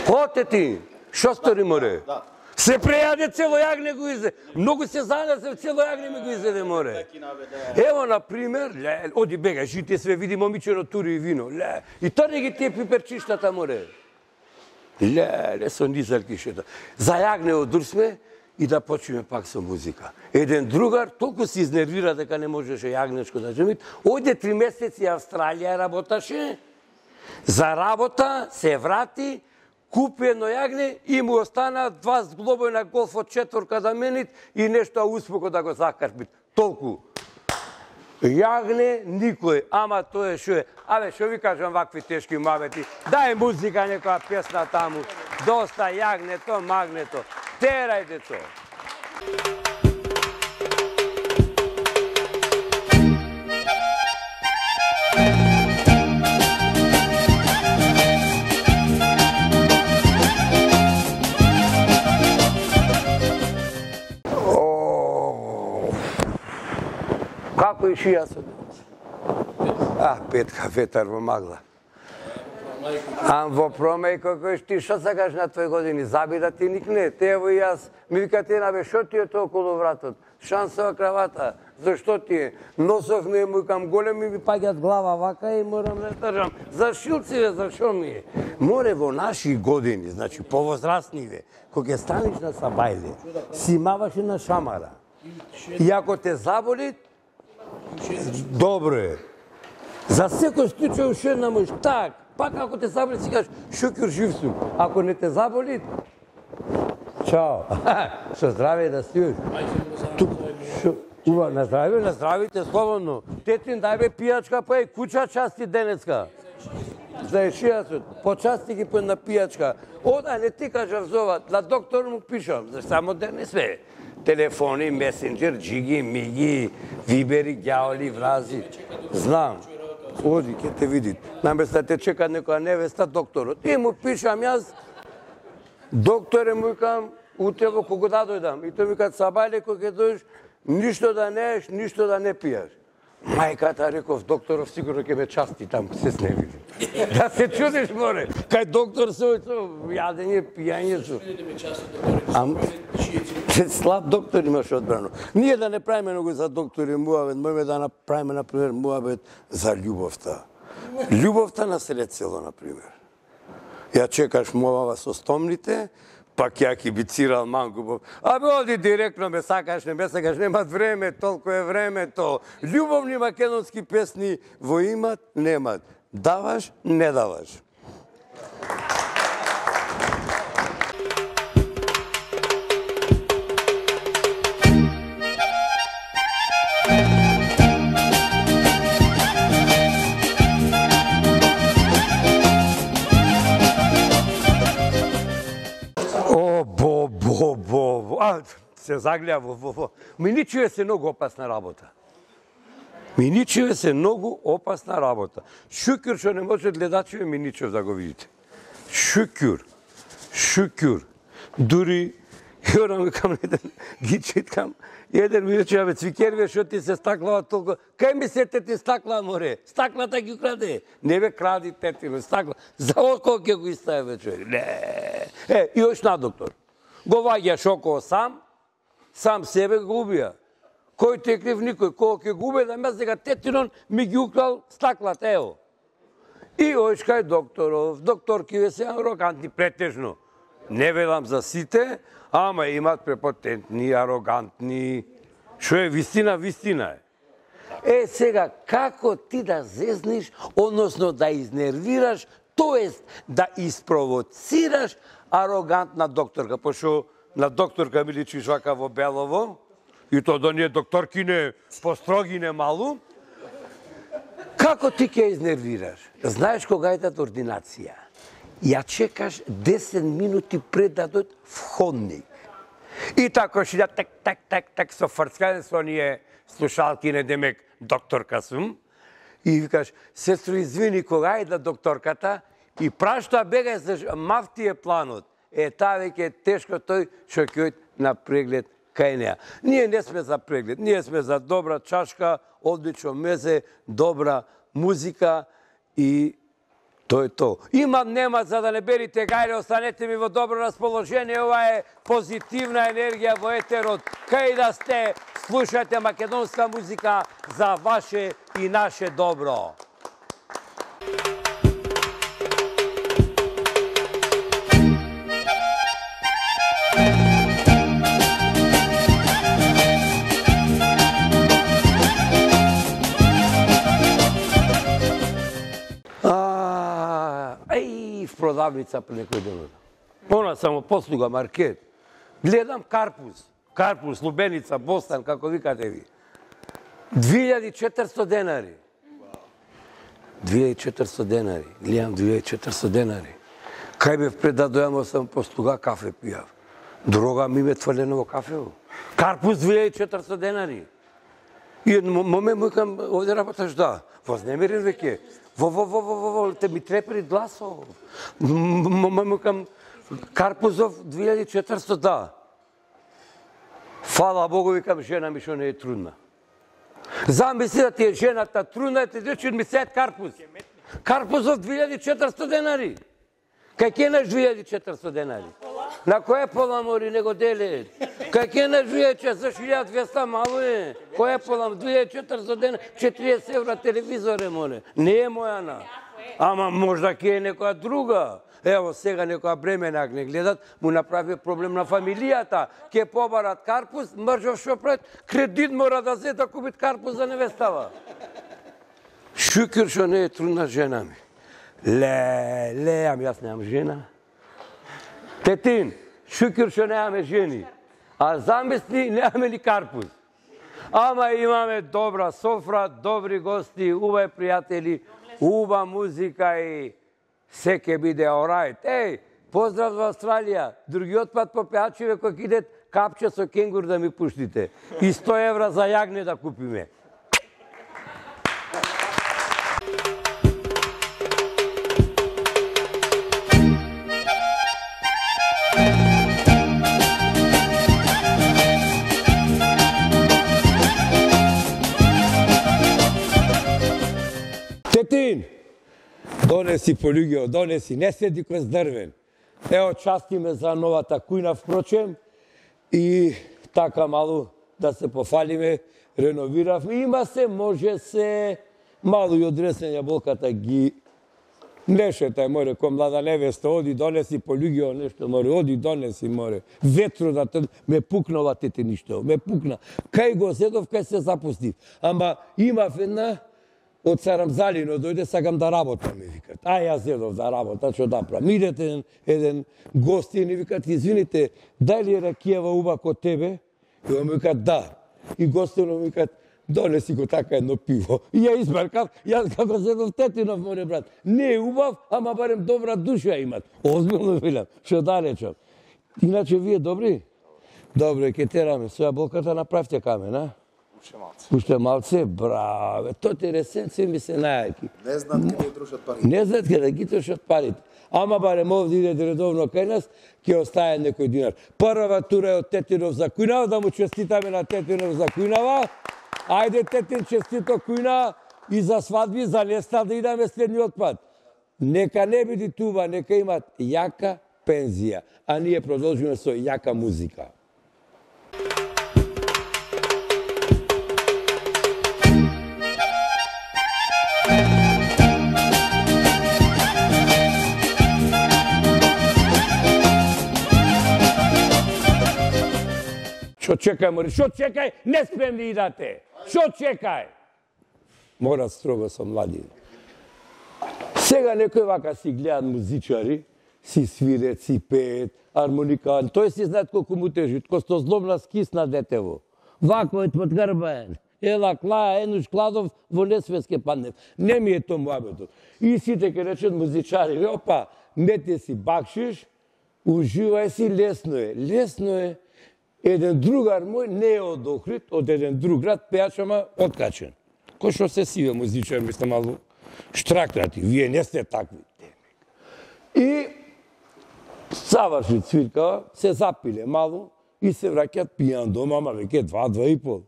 Оте ти, шо стори море? Се прејаде цело јагне го изе. Многу се занесе, цело јагне ми го изеде море. Ево, например, оди бега, жите све, види момичено тури и вино. И тоа не ги тие пиперчиштата море. Со низалки шета. За јагне одурсме и да почнеме пак со музика. Еден другар толку се изнервира дека не можеше јагнешко да жемит. Оде 3 месеци Австралија работаше. За работа се врати, купи едно јагне и му остана 2 зглобови на голф од 4 да менит и нешто успоко да го закарпит. Толку. Јагне никој, ама тоа е шо е. Абе, шо ви кажам вакви тешки муабети. Дај музика, некоја песна таму. Доста јагнето, магнето. Терај, децо. Како и шијасот? Петка ветар во магла. Во промејко кој ти шо сакаш на твои години? Заби да ти никне. Тево и јас. Ми вика ти набе, шо ти е тоа околу вратот? Шансова кравата. Зашто ти е? Носов не му кам големи ми паѓат глава вака и морам да држам. За шилциве, за шо ми е? Море во наши години, значи повозрастниве, кога ќе станеш на сабајле, си маваше на шамара. И ако те заболи, добро е. За секој случај уште една муж, так, пак ако те заболи си кажеш, шокер жив сум. Ако не те заболи, чао. Со здраве да стоиш. На здравите, слободно. Тетин, дај бе пијачка, па и куча части денеска. За ешијасот, почасти ги по една пијачка. Ода, не ти кажав зова, на доктор му пишам, за само денес све. Телефони, месенџер, джиги, миги, вибери, ѓаоли, врази. Знам. Оди, ке те види. Наместо да те чека некоја невеста, докторот. И му пишам јас, докторе му викам, утрево кога да дојдам. И тој ми кажа, сабајле кога ќе дојдеш, ништо да не еш, ништо да не пијаш. Мајката реков, докторов сигурно ќе ме части там, се сневиди. Да се чудиш, море. Кај доктор со јадење, пијање со. Слаб доктор имаш одбрано. Ние да не правиме многу за доктори муабет, можеме да направиме, например, муабет за љубовта. Љубовта на сред село, например. Ја чекаш муабава со стомните, пак ја кибицирал Мангубов. Абе, оди директно, ме сакаш, не ме сакаш, немат време, толку е времето. Љубовни македонски песни во имат, немат. Даваш, не даваш. Се загледа во. Миничеве се многу опасна работа. Миничеве се многу опасна работа. Шукјур што не може гледачеве Миничев да го видите. Шукјур. Дури, јорам викам еден, ги читкам, еден ми рече, абе, Цвикерве, шо ти се стаклава толку? Кај ми се ти стакла, море? Стаклата ги украде. Не бе кради тетино, стакла. За око ќе го иставе, човек. Не. И ош на доктор. Го ваѓаш около сам себе го убија. Кој те крив никој, кој ќе губе да ме сега тетинон ми ги украл стаклата, ево. И оиш кај докторов, докторкиве се арогантни претежно. Не велам за сите, ама имат препотентни, арогантни. Шо е вистина, вистина е. Сега, како ти да зезниш, односно да изнервираш, тоест да испровоцираш арогантна докторка, пошто на докторка ми личиш вака во белово, и то да не докторкине построгине малу, како ти ќе изнервираш? Знаеш кога идат ординација? Ја чекаш 10 минути пред да дојд входник. И тако шида так со фрцкане со оние слушалкине, демек докторка сум. И викаш, сестро, извини, кога идат докторката? и прашта бега за мафти е планот. Таа веќе е тешко тој што ќе ојде на преглед кај неа. Ние не сме за преглед, ние сме за добра чашка, одлично мезе, добра музика и тоа е тоа. Имам, нема, за да не берите гајле, останете ми во добро расположение. Ова е позитивна енергија во етерот. Кај да сте, слушате македонска музика за ваше и наше добро. В продавница при некој ден. Она само послуга маркет. Гледам карпуз. Карпуз, лубеница, бостан, како викате ви. 2400 денари. 2400 денари. Гледам 2400 денари. Кај бев пред да дојам сам послуга кафе пијав. Дрога ми ме тврлено во кафево. Карпуз 2400 денари. И момент му викам, овде работаш да. Вознемирен веќе. Те ми трепери гласов. Му кам Карпузов 2400 да. Фала Богу, викам, жена ми што не е трудна. Замисли да ти е жената трудна, ти речи ми сет Карпуз. Карпузов 2400 денари. Кај ке наш 2400 денари? На која пола мори него деле? Кај ке наш 1200 мало е? Која пола 2400 денари? 40 евра телевизор е море. Не е мојана. Ама можда ке е некоја друга. Ево сега некоја бременак не гледат, му направи проблем на фамилијата. Ке побарат Карпуз, мржов шо пред, кредит мора да зет да купит Карпуз за невестава. Шукир шо не е трудна жена ми. Ами јас немам жена. Тетин, шукир што немаме жени. А замисли, немаме ни Карпуз. Ама имаме добра софра, добри гости, убави пријатели, уба музика и се ке биде орайт. Поздрав во Австралија. Другиот пат по пеачиве кој идет капче со кенгур да ми пуштите. И 100 евра за јагне да купиме. Тетин, донеси полуѓе, донеси, не седи кој здрвен. Ево, части ме за новата кујна, впрочем, и така малу да се пофалиме, реновиравме. Има се, може се, малу и одресен јаболката ги нешета, море, кој млада невеста, оди, донеси полуѓе, нешто, море, оди, донеси, море. Ветро да те, ме пукнала тете ништо, ме пукна. Кај го седов, кај се запустив. Ама имав една, од Сарамзалино дојде, сакам да работам, ми викат. Јас седов да работам, што да правам. Идете еден гост и ни викат, извините, дај ли е ракијава уба кod тебе? И он ми викат, да. И гостино ми викат, донеси го така едно пиво. И ја измаркав, јас како седов Тетинов, море брат. Не е убав, ама барем добра душа имат. Озбилно велам, што да речам. Иначе вие добри? Добре, ке тераме. Со јаболката направте камен, а? Уште малце, браве, тоти ресенци ми се најаки. Не знаат каде трошат парите. Не знаат каде ги трошат парите. Ама барем овде иде редовно кај нас, ќе остае некој динар. Прва тура е од Тетинов за Кујнава, да му честитаме на Тетинов за Кујнава. Ајде, Тетин, честито Кујна и за свадби, за неста да идеме следниот пат. Нека не биде туба, нека имат јака пензија, а ние продолжиме со јака музика. Што чекај, мори, што чекај, не спремни идате. Што чекај? Мора строго со млади. Сега некој вака си гледат музичари, си свирет, си пеет, армоникан, тој си знаат колку му тежи, ко сто злобна скисна детево. Вако е подгрбаен. Ела клаа, енуш кладов, во несвеске паднев. Не ми е то муабетот. И сите ке речат музичари, опа, мете си бакшиш, уживај си, лесно е. Лесно е. Еден другар мој не е од Охрид, од еден друг град, пеач, ама откачен. Кој што се сиве музичар, мислам, малу штракнати. Вие не сте такви. И заврши цвиркава, се запиле мало и се враќат пијан дома, ама веќе 2-2,5.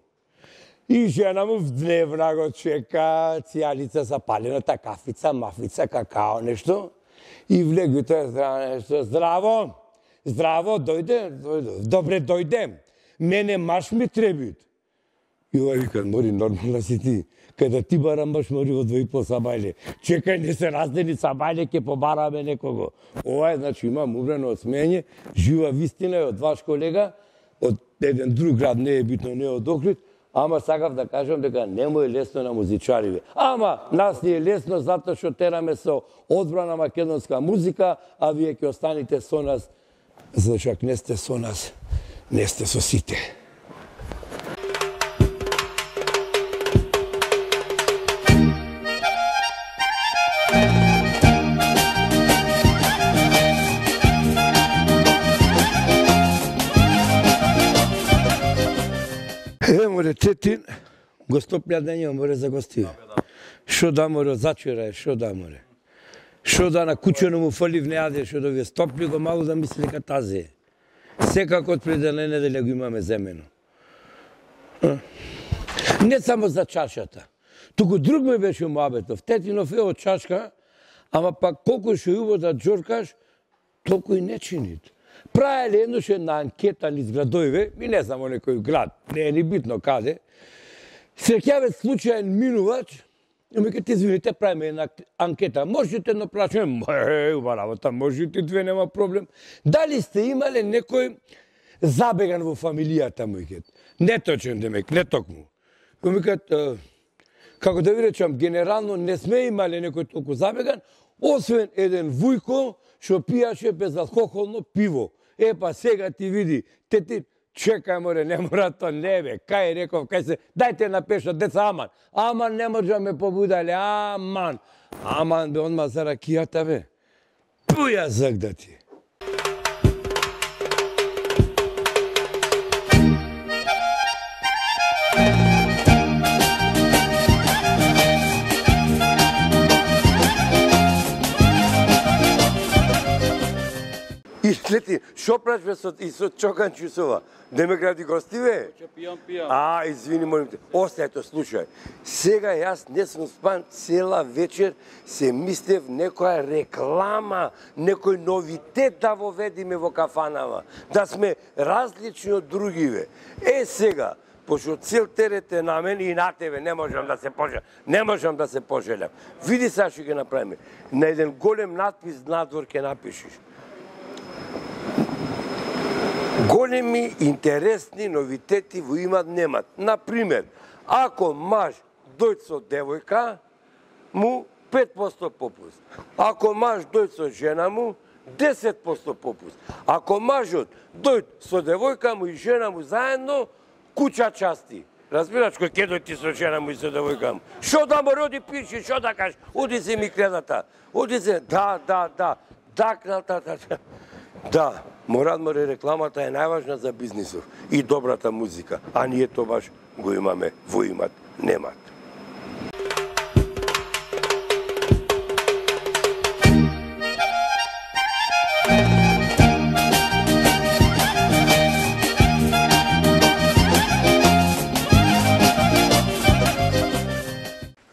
И жена му вдневна го чека, цијалица запалената кафица, мафица, какао, нешто. И влегли тоа нешто, здраво, здраво, дојде, добре дојдем. Мене маш ми требит. И ова вика, мори, нормална си ти. Кај ти барам баш мори во 2,5 сабајле. Чекај, не се раздели сабајле, ке побараме некого. Ова е, значи, имам умрено од смење, жива вистина е од ваш колега, од еден друг град, не е битно, не од Охрид, ама сакав да кажам дека не му е лесно на музичариве. Ама, нас ни е лесно затоа што тераме со одбрана македонска музика, а вие ќе останете со нас, зашто ако не сте со нас, не сте со сите. Море Тетин, го стоплја дења море за гости. Шо да море зачера, шо да море. Шо да на кучено му фали в неаде, шо да ви стопли го малу да мисли дека тази е. Секако од пред една неделја го имаме земено. Не само за чашата. Туку друг ме беше муабетов. Тетинов е од чашка, ама пак колку шо јубо да джоркаш, толку и не чинит. Правеле еднош една анкета низ градоиве, и не знам о некој град, не е ни битно каде, среќаве случаен минувач, и ми кажете, извините, правиме една анкета, можете да плачаме? Уба работа, можете две, нема проблем. Дали сте имале некој забеган во фамилијата му, неточен демек, не токму. И ми кажете, како да ви речам, генерално не сме имале некој толку забеган, освен еден Вујко, што пијаше безалкохолно пиво. Е, па сега ти види, ти чекај море, не мора то, не бе, кај реков, кај се, дајте напеша, деца, аман. Аман не може ме побудале, аман. Аман бе, онма за ракијата бе. Пуја зак да ти. И слети, шо прашве и со Чоканчусова? Не ме гради гости, бе? Пијам. Извини, молим те. Остајте, слушај. Сега јас не сум спан цела вечер, се мислев некоја реклама, некој новитет да воведиме во кафанава. Да сме различни од другиве. Сега, пошто цел терет е на мене и на тебе, не можам да се пожелам. Не можам да се пожелам. Види сега што ќе направиме. На еден голем надпис надвор ќе напишеш. Големи, интересни новитети во имат немат. Например, ако маж дојде со девојка, му 5% попуст. Ако маж дојде со жена му, 10% попуст. Ако мажот дојде со девојка му и жена му заедно, куќа части. Разбираш, кој ќе дојде ти со жена му и со девојка му? Шо да му роди пиши, шо да кажеш? Оди се ми кредата. Оди се, да. Да, Морад море рекламата е најважна за бизнисов и добрата музика, а ние тоа баш го имаме во имат, немат.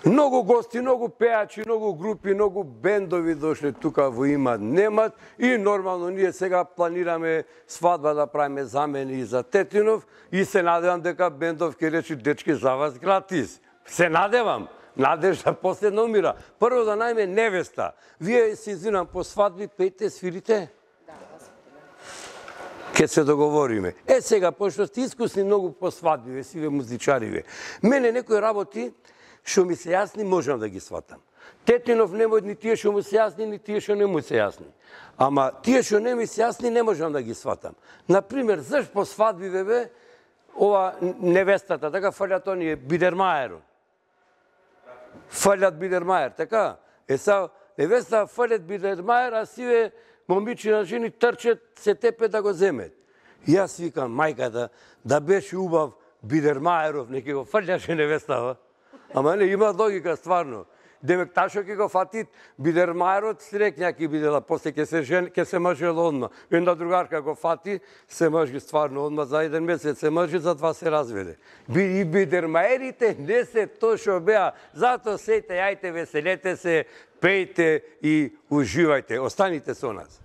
Многу гости, многу пеачи, многу групи, многу бендови дошле тука во имат немат и нормално ние сега планираме свадба да правиме замени за Тетинов и се надевам дека бендов ќе речи дечки за вас гратис. Се надевам. Надежда последно умира. Прво да најме невеста. Вие се извинам по свадби пеете, свирите? Да. Ке се договориме. Сега, пошто сте искусни многу по свадби, сиве музичариве. Мене некои работи што ми се јасни, можам да ги сватам. Тетинов не може ни тие што му се јасни, ни тие што не му се јасни. Ама тие што не ми се јасни, не можам да ги сватам. Например, зашто по свадби, бе, ова невестата, така фалјат оние Бидермајер. Фалјат Бидермајер, така? Са, невеста фалјат Бидермајер, а сиве момичина жени трчат, се тепе да го земет. И јас викам, мајката, да беше убав Бидермајеров, неке го фалјаше невестава. Ама не, има логика стварно. Девек ташо ќе го фатит, бидермајерот срекња ќе бидела, после ќе се мажела одма. Една другарка го фати, се мажи стварно одма за 1 месец, се мажи, за 2 се разведе. И бидермајерите не се то шо беа, зато сејте, јајте, веселете се, пејте и уживајте. Останите со нас.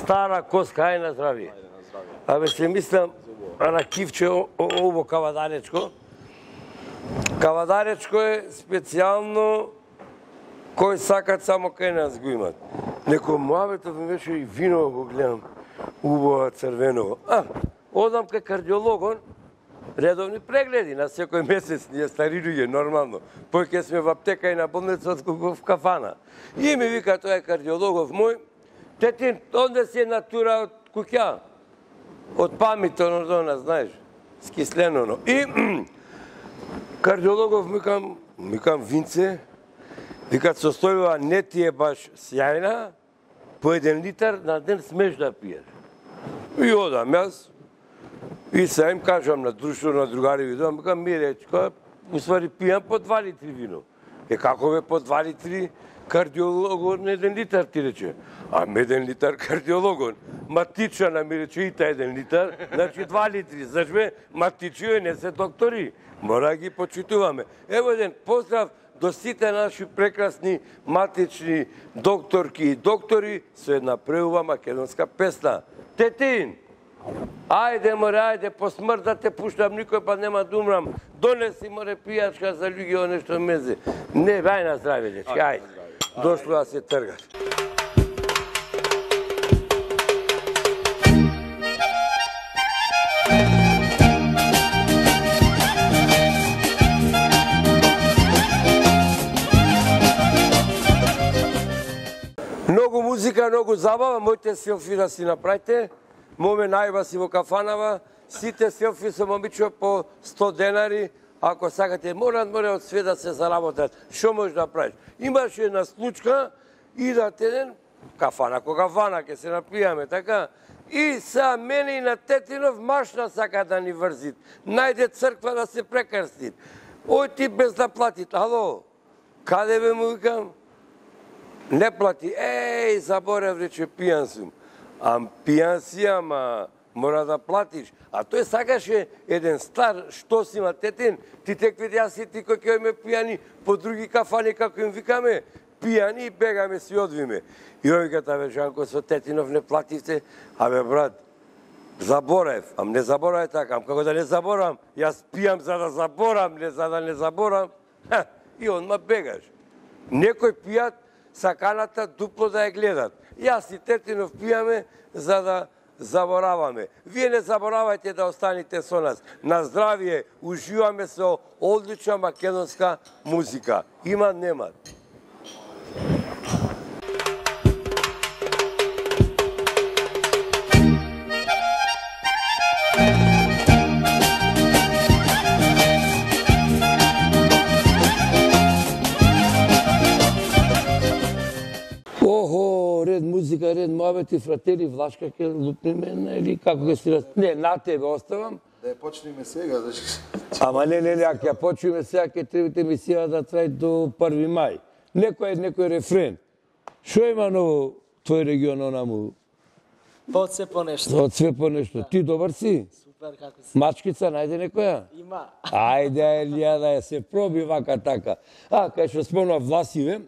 Стара коска, ај на здравие. Абе се мислам, на кивче ово кавадаречко. Кавадаречко е специјално кој сакат само кај нас го имат. Некој муабетов ми беше и вино го гледам, убаво црвено. Одам кај кардиологон, редовни прегледи на секој месец, ние стари луѓе, нормално. Поќе сме во аптека и на болница, в кафана. И ми вика тој кардиологов мој, Тетин, онде си натура од куќа, од памето, знаеш, скислено. И кардиологов викам Винце, викат состојува не ти е баш сјајна, по 1 литар на ден смеш да пиеш. И одам јас, и сега им кажам на друштво, на другари видам, викам миречко, уствари пијам по 2 литри вино. Како бе по 2 литри? Кардиологон 1 литар ти рече. 1 литар кардиологон. Матичана ми рече и та 1 литар, значи 2 литри. Знаеш бе, матичио не се доктори. Мора ги почитуваме. Ево еден поздрав до сите наши прекрасни матични докторки и доктори со една преува македонска песна. Тетин, ајде море, ајде, по смрт да те пуштам, никој па нема да умрам. Донеси море пијачка за луѓе нешто мезе. Не, ај на здраве, дечки, ајде. Дошло да се тргаш. Многу музика, многу забава, моите селфи да си направите. Моме најба си во кафанава, сите селфи со момиче по 100 денари, ако сакате, море од све да се заработат. Што можеш да правиш? Имаше една случка, идат еден, кафана ко кафана, ке се напијаме, така? И са мене и на Тетинов машна сака да ни врзит. Најде црква да се прекрстит. Ој ти без да платит. Ало, каде бе му викам? Не плати. Еј, заборев, рече, пијан сум. Пијан си, ама мора да платиш. А тој сакаше еден стар, што си има Тетин, ти теквиди јас и ти кој ќе ме пијани по други кафани, како им викаме, пијани и бегаме си одвиме. И овиката, бе, Жанко, со Тетинов не плативте, абе, брат, заборев, не заборав така, како да не заборам, јас пијам за да заборам, не за да не заборам, и онма бегаш. Некој пијат, саканата дупло да ја гледат. Јас и Тетинов пијаме за да забораваме. Вие не заборавајте да останете со нас. На здравие, уживаме со одлична македонска музика. Има, нема. Ред музика, ред муабети, фратери, Влашка ќе лупниме, или како ќе си... Не, на тебе оставам. Да ја почнеме сега, Ама не, ако ја почнеме сега, ќе требате емисија да трај до 1 мај. Некој рефрен. Шо има ново твој регион, онаму? Од све по нешто. Од све по нешто. Ти добар си? Супер, како си? Мачкица, најде некоја? Има. Ајде, Елија, да ја се проби вака така. Кај што спомна Власиве,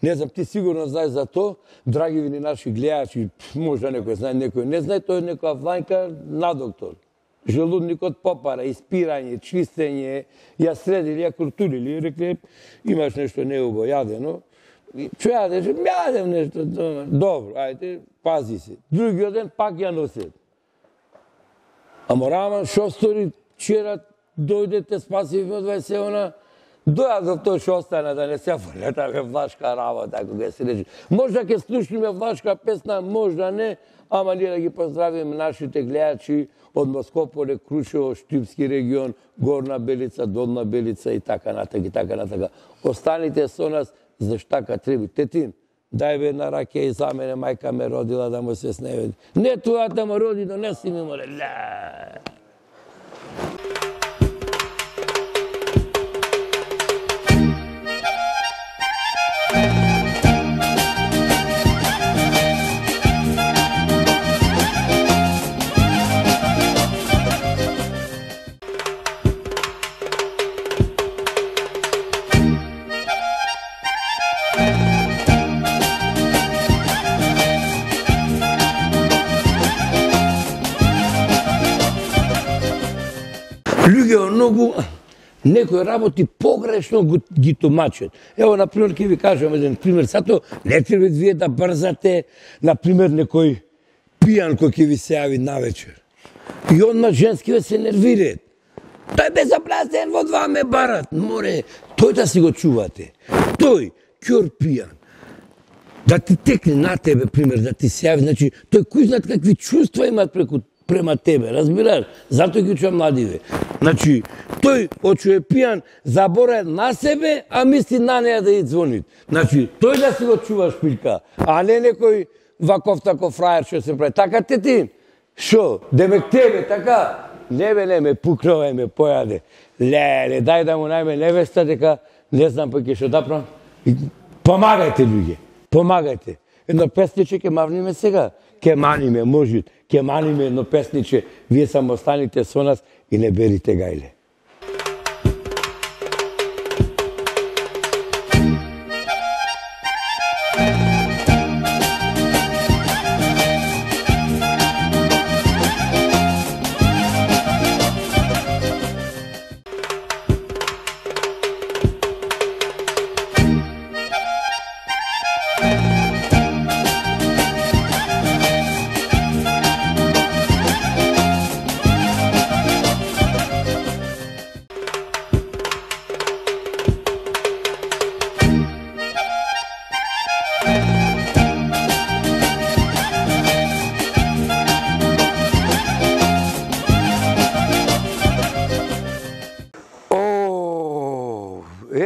не знам, ти сигурно знаеш за то, драги ви наши гледачи, можда некој знае, некој не знае, тој е некоја Вањка на доктор. Желудникот попара, испирање, чистење, ја средили, ја куртулили, рекле, имаш нешто неубо јадено. Што јадеш? Јадем нешто, добро, ајде, пази се. Другиот ден пак ја носет. Ама Раман, шо стори, вчера дојдете, спасивме од 20 она, Дојадов тој што остана да не се фрлетаме влашка работа, кога се рече. Можда ќе слушнеме влашка песна, можда не, ама ние да ги поздравиме нашите гледачи од Москополе, Крушево, Штипски регион, Горна Белица, Долна Белица и така натака, и така натака. Останите со нас, заштака треба. Тетин, дај бе една ракија и за мене, мајка ме родила да му се сневеди. Не тоа да ме роди, донеси ми море. Луѓе многу некои работи погрешно ги тумачат. Ево, например, ќе ви кажам еден пример. Сато не треба вие да брзате, например, некој пијан кој ќе ви се јави навечер. И одма женскиве се нервираат. Тој безобразен во 2 ме барат. Море, тој да си го чувате. Тој, кјор пијан, да ти текне на тебе, пример, да ти се јави, значи, тој кој знаат какви чувства имат према тебе, разбираш? Зато ги учам младиве. Значи, тој, очу е пијан, забора на себе, а мисли на неја да ја звони. Значи, тој да си го чува шпилка, а не некој ваков таков фрајер што се прави. Така Тетин? Шо? Демек тебе, така? Не ме пукнува, ме појаде. Леле, дај да му најме невеста, дека не знам па ќе што да правам. Помагајте, луѓе, помагајте. Едно песниче ќе мавниме сега. Ке маниме, може, ке маниме едно песниче, вие само останите со нас и не берите гајле.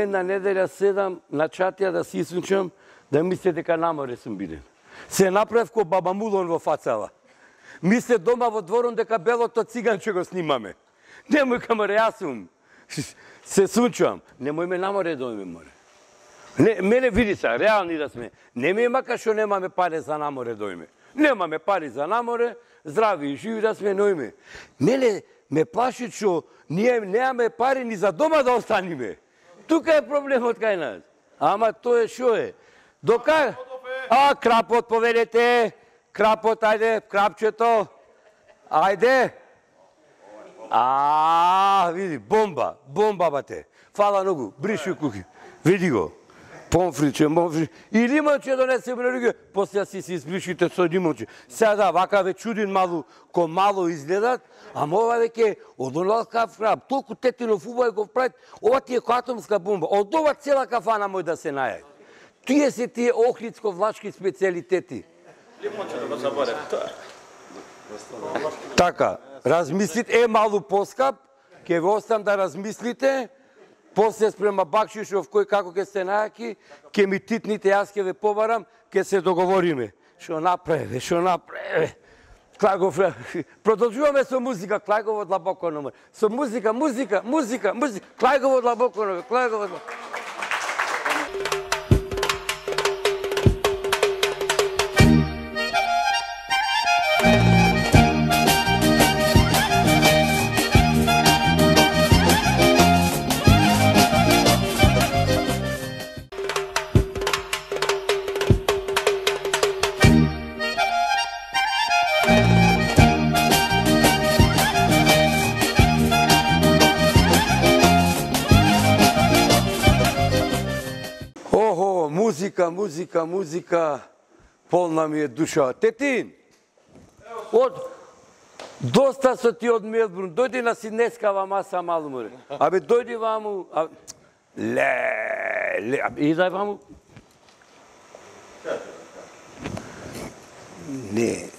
Една неделја седам на чатија да си исунчам, да мисле дека на море сум биден. Се направив ко баба Мулон во фацала. Мисле дома во дворон дека белото циганче го снимаме. Немој камаре, јас сум. Се сунчам. Немој ме на море дојме, море. Мене види се, реални да сме. Не ми мака што немаме пари за на море дојме. Немаме пари за на море, здрави и живи да сме нојме. Мене ме плаши што ние немаме пари ни за дома да останиме. Тука е проблемот кај нас. Ама тоа шо е? Дока? А, крапот поведете. Крапот, ајде, крапчето. Ајде. Види, бомба, бомба бате. Фала многу, бриши куки. Види го. Помфриче, момфриче. И лимонче донесе на луѓе. После си избришите со лимонче. Сега да, вака ве чудин малу, ко мало изгледат, ама ова веќе од онолкав крап, толку Тетинов убај го правит, ова ти е атомска бомба. Од ова цела кафана мој да се наје. Тие се тие охридско-влашки специјалитети. Лимонче да го заборев. Така, размислите, малу поскап, ќе ве оставам да размислите, после спрема бакшишов кој како ќе се најаки, ќе ми титните, јас ќе ве побарам, ќе се договориме. Шо направи, шо направи. Клагов, продолжуваме со музика, Клагово длабоко номер. Со музика, музика, музика, музика, Клагово длабоко номер, Клагово длабоко. Музика, музика, музика, полна ми е душа. Тетин, доста со ти од Мелбурн, дојди на Сиднескава маса малу море. Абе, дојди ваму, И дај ваму. Не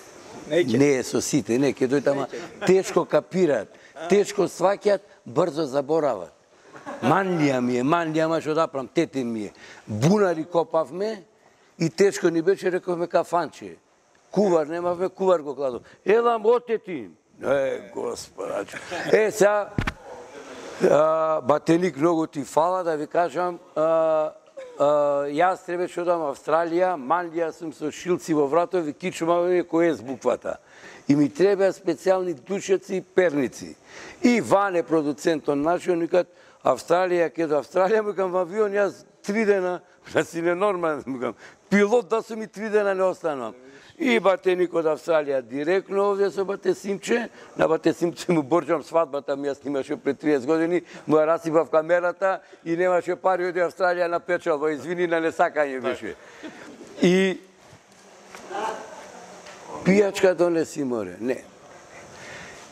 е со сите, не, ќе дојдат, ама тешко капираат, тешко сваќаат, брзо заборават. Манлија ми е, ама што да правам, тетин ми е. Бунари копавме и тешко ни беше, рековме кафанче. Кувар немавме, кувар го кладов. Елам отетин. Господаче. Сега, Батеник, многу ти фала да ви кажам, јас требаше одам Австралија, манлија сум со шилци во вратови, кичумаваме кој е с буквата. И ми треба специјални душеци и перници. И Ване, продуцентон нашиот, никад Австралија, ке до Австралија, му кам во авион, јас 3 дена, да си ненормален, му кам, пилот да сум и 3 дена не останувам. И Батеник од Австралија директно овде со Бате Симче, на Бате Симче му борџам свадбата ми, јас снимаше пред 30 години, му ја расипав камерата и немаше пари од Австралија на печалба, извини на несакање беше. И пијачка донеси море, не.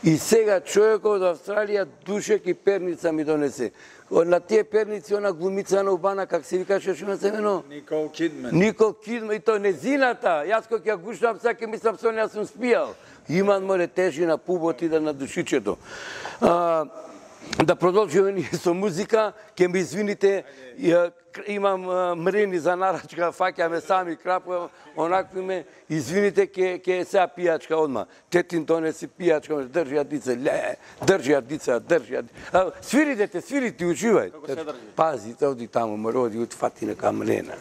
И сега човекот од Австралија душек и перница ми донесе. На тие перници, она глумица на Убана, как се викаше, што има семено? Никол Кидман. Никол Кидман, и тоа незината. Јас кога ќе ја гушнам, сега ќе мислам со неја сум спијал. Иман море тежи на пубот и да на душичето. Да продолжиме ние со музика, ќе ми извините, имам мрени за нарачка, фаќаме сами крапува, онакви ме, извините, ќе сега пијачка одма. Тетин донеси пијачка, држи ја дица, држи ја дица, држи ја дица. Свири дете, свири ти, уживај. Како се држи? Пази, оди таму, море, оди, утфати нека мрена.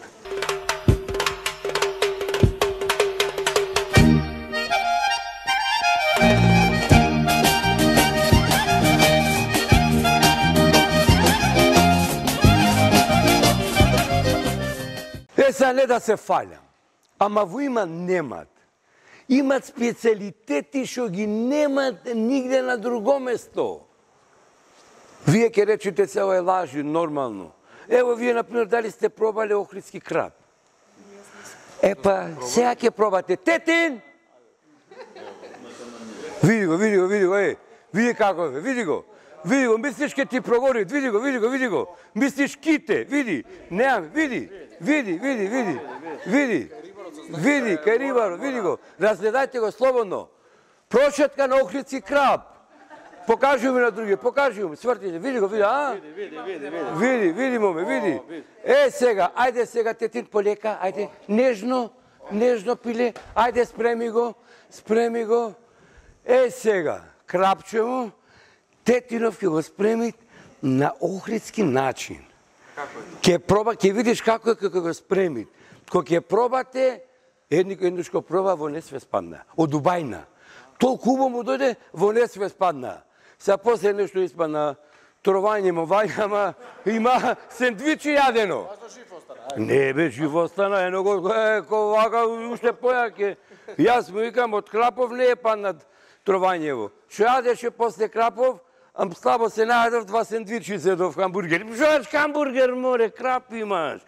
Сега не да се фалям, ама во Иман немат. Имат специалитети што ги немат нигде на друго место. Вие ќе речете се ова е лажи, нормално. Ево, вие, например, дали сте пробале охридски краб? Епа, сега ќе пробате. Тетин! Види го, види како е, види го. Види го, мислиш ке ти прогори, види го. Мислиш ките, види. Неам, види, кај рибаро, види го. Разгледајте го слободно. Прошетка на охридски краб. Покажи ми на други, свртите, види го, види, моме, види. Сега, ајде сега, Тетин, полека, ајде, нежно пиле, ајде, спреми го. Сега, крапчево, Тетинов ќе го спреми на охридски начин. Ќе видиш како го спреми. Кога ќе пробате, еднушко проба, во несве спадна. Од Убајна. Толку убаво му дојде, во несве спадна. Сега после нешто испадна, трованје му вајна, ама има сендвичи јадено. Не бе, жив остана, едного, вака, уште појаке. Јас му викам, од Крапов не е паднат трованјево. Што јадеше после Крапов, слабо се најдов, 2 сендвичи зедов хамбургер. Што хамбургер, море, крап имаш.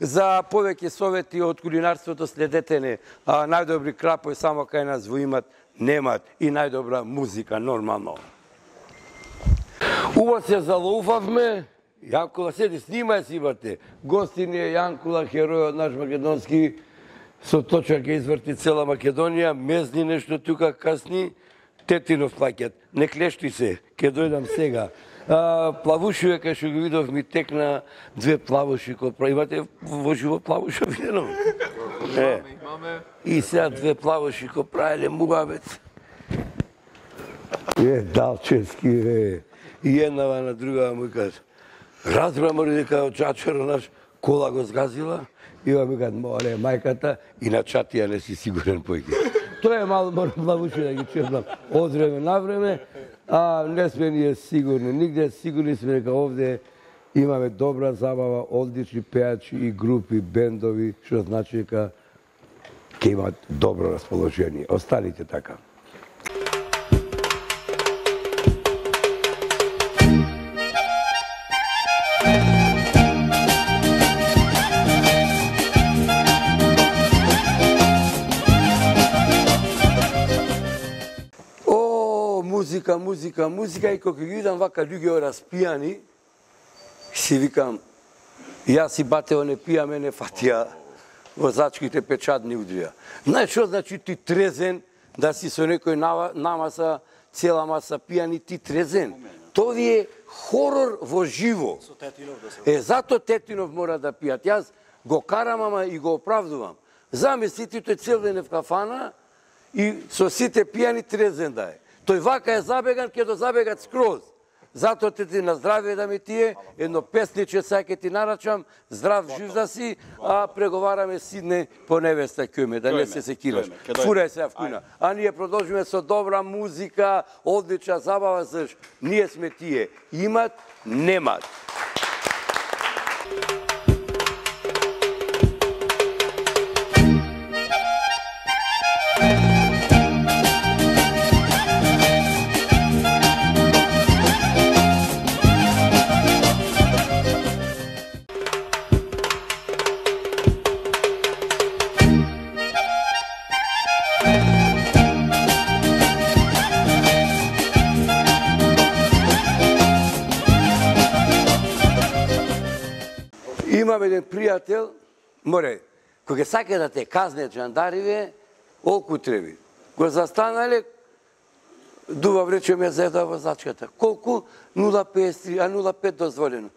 За повеќе совети од кулинарството следете не. Најдобри крапови само кај нас во Имат немат и најдобра музика, нормално. Уво се залоуфавме, Јанкула, седи, снимај си, бате. Гости ни е Јанкула, херојот наш македонски, со точка ќе изврти цела Македонија, мезни нешто тука касни, Тетинов плаќат. Не клешти се, ќе дојдам сега. Плавушиве, кај што ги видов, ми текна 2 плавуши. Имате во живо плавуша видено? Имаме. И сега 2 плавуши ко правеле муабет. Далчевски, и еднава на другава му кажа. Разбра мори дека од чачаро наш кола го сгазила, и ова ми кажа, моле, мајката, и на чатија не си сигурен појке. Тоа е мало морам плавуши да ги чепнам од време на време, не сме ние сигурни, нигде сигурни сме дека овде имаме добра забава, одлични пејачи и групи, бендови, што значи дека ќе имат добро расположение. Останите така. Музика, и кога ги видам вака луѓе распијани, си викам, Јас си батео не пијаме, не фатија возачките печатни удрија. Знаеш што значи ти трезен, да си со некој намаса, цела маса пијани, ти трезен? Тоа ви е хорор во живо. Зато Тетинов мора да пијат. Јас го карам, ама и го оправдувам. Замислите, тој цел ден е в кафана и со сите пијани трезен да е. Тој вака е забеган, ќе до забегат скроз. Затоа ти на здравје да ми тие, едно песниче сега ќе ти нарачам, здрав жив да си, а преговараме Сидне по невеста кјуме, да не се секираш. Фурај се вкуна. А ние продолжиме со добра музика, одлична забава, заш ние сме тие. Имат, немат. Имам еден пријател, море, кога сака да те казне джандариве, олку треби. Го застанале, дува врече ме заеда возачката. Колку? 0,53, а 0,5 дозволено.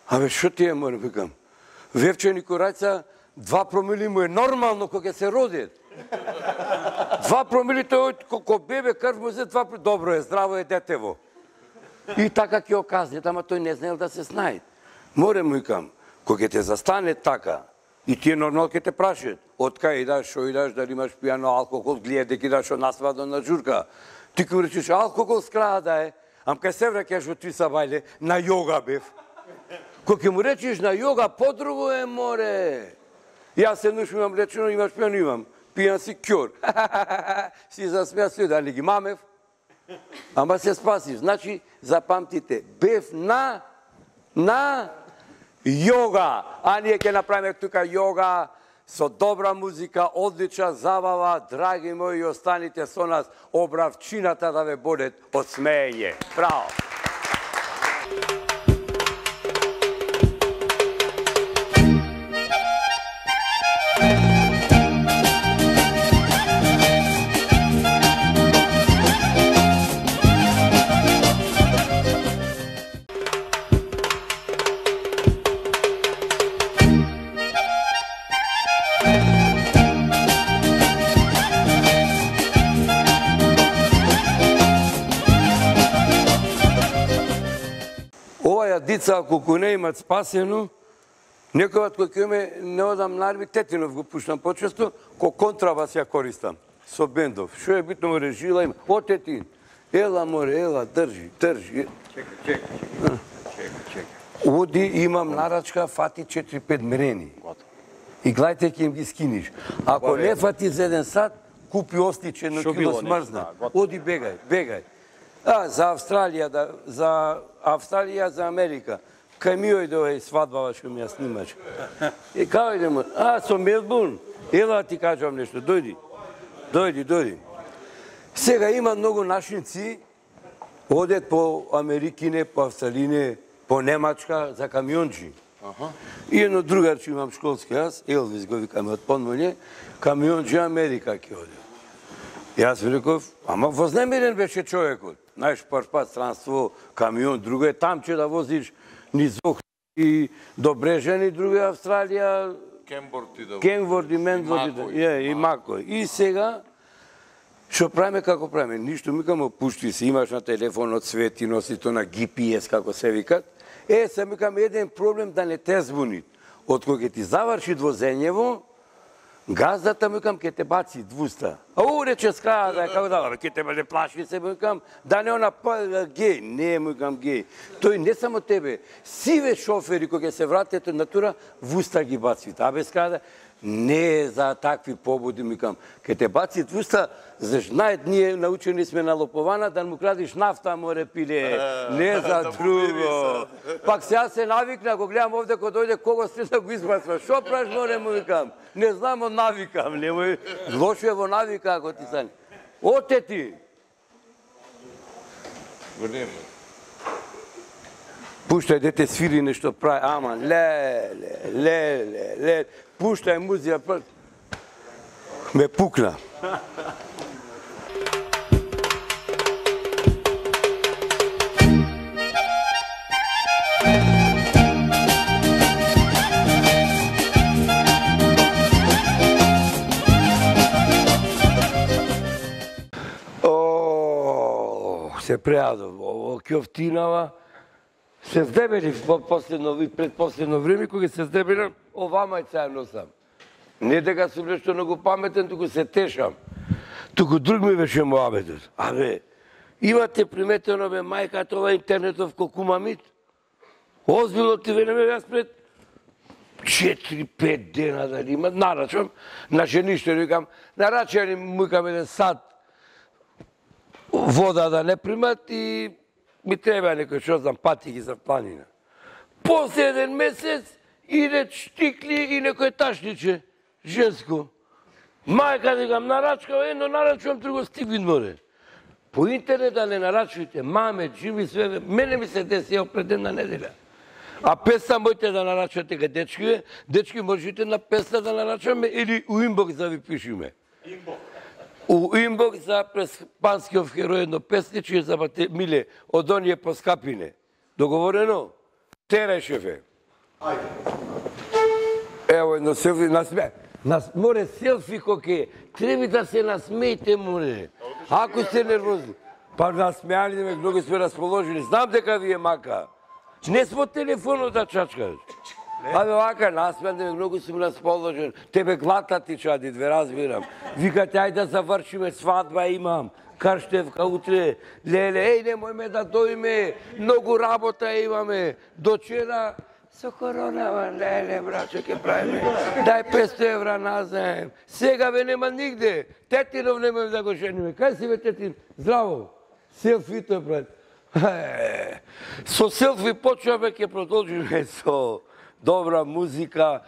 Абе, шо ти е, море, викам? Вевче Никорајца, 2 промили му е нормално кога се родит. 2 промили, тој ко бебе крв му зе 2 промили. Добро е, здраво е детево. И така ќе оказнет, ама тој не знаел да се знае. Море, му викам, кога те застане така, и тие нормално ќе те прашат, од кај идаш, шо идаш, дали имаш пијано алкохол, гледа дека идаш од насвадо на журка. Ти ќе речеш, алкохол скрада да е, ам кај се враќаш од Твиса бајле, на јога бев. Кога ќе му речеш на јога, подруго е, море. Јас се имам речено, имаш пијано, имам. Пијан си кјор. Си засмеа се, дали ги мамев. Ама се спасив. Значи, запамтите, бев на јога. А ние ќе направиме тука јога со добра музика, одлична забава, драги мои, останите со нас, обравчината да ве бодет од смеење. Браво! Дица, ако не имат спасено, некојат кој ќе ме не одам нарви, Тетинов го пуштам почесто, ко контрабас ја користам, со бендов. Шо е битно море, жила има. О, Тетин, ела море, ела, држи. Чекај. Оди, имам нарачка, фати 4-5 мерени. И гледајте ќе им ги скиниш. Ако не фати за 1 сат, купи остиче на кило смрзна. Оди, бегај. За Австралија, за Америка. Кај ми ојде овај свадбава што ми ја снимаш. И као идемо? Со Мелбурн. Ела ти кажам нешто, дојди. Сега има многу нашинци, одет по Америкине, по Австралине, по Немачка, за камионджи. И едно другарче имам школски јас, Елвис го викаме од Понмолје, камионджи Америка ќе оде. Јас ви реков, ама вознемирен беше човекот. Знаеш, пат странство, камион, друго е там че да возиш низ Охрид до Брежани, друго е Австралија, Кенворд и Менворд и Макој. И сега, што правиме, како правиме? Ништо, микам, опушти се, имаш на телефонот свети, носи то на GPS, како се викат. Се микам, еден проблем да не те збуни. Од кога ти заврши возењево, газдата, микам, ке те баци 200. Рече скраја да е како да, ке те не плаши се, микам, да не она геј. Не, микам, геј. Тој не само тебе, сиве шофери кои се вратат од натура, вуста ги баци. Абе скраја не е за такви побуди, микам. Ке те баци 200, заш знаат, ние научени сме на лопована, да му крадиш нафта, море пиле. Не за друго. Пак сега се навикна, ако гледам овде, кој дојде, кого сте да го избацва. Шо праш, море, му викам? Не знам, од навикам. Лошо е во навика, ако ти стане. Оте ти! Пуштај дете свири нешто прави, аман, ле, пуштај музика, ме пукна. Се преадов, ово кјофтинава, се здебели пред последно време, кога се здебелам, ова мајца ја носам. Не дека сум нешто многу паметен, туку се тешам. Туку друг ми беше муабетот. Абе, имате приметено, бе, мајката, ова интернетов кокумамит? Озбилно ти велеме, јас пред 4-5 дена дали има, нарачам, на жениште, викам, нарачам, мујкам еден сад, вода да не примат и ми треба некој, што знам, патики за планина. После еден месец иде штикли и некој ташниче, женско. Мајка, дигам, нарачкав, едно нарачувам, друго стигвин море. По интернет да не нарачувате, маме, джими, све, мене ми се деси пред една неделя. А песна можете да нарачате ка дечки, дечки можете на песна да нарачаме или у инбокс да ви пишеме. У инбокс за през Панскиов херој едно песниче за Миле, од оние поскапине. Договорено? Терај, шефе. Ајде. Ево едно селфи, насме. Море селфи коке, треба да се насмејте, море. Ако сте нервозни. Па насмејали ме, многу сме расположени. Знам дека ви е мака. Не смо телефонот да чачкаш. Абе, вака, насмејали ме, многу сме расположени. Тебе глата ти чади, две разбирам. Викате, ајде да завршиме, свадба имам. Карштевка утре, леле, еј, немој ме да дојме, многу работа имаме. Дочера, со коронава, леле, брачо, ке правиме. Дај 500 евра назаем. Сега бе нема нигде. Тетинов немој да го жениме. Кај си бе, Тетин? Здраво. Селфито е пред. Со селфи почваме, ке продолжиме со добра музика,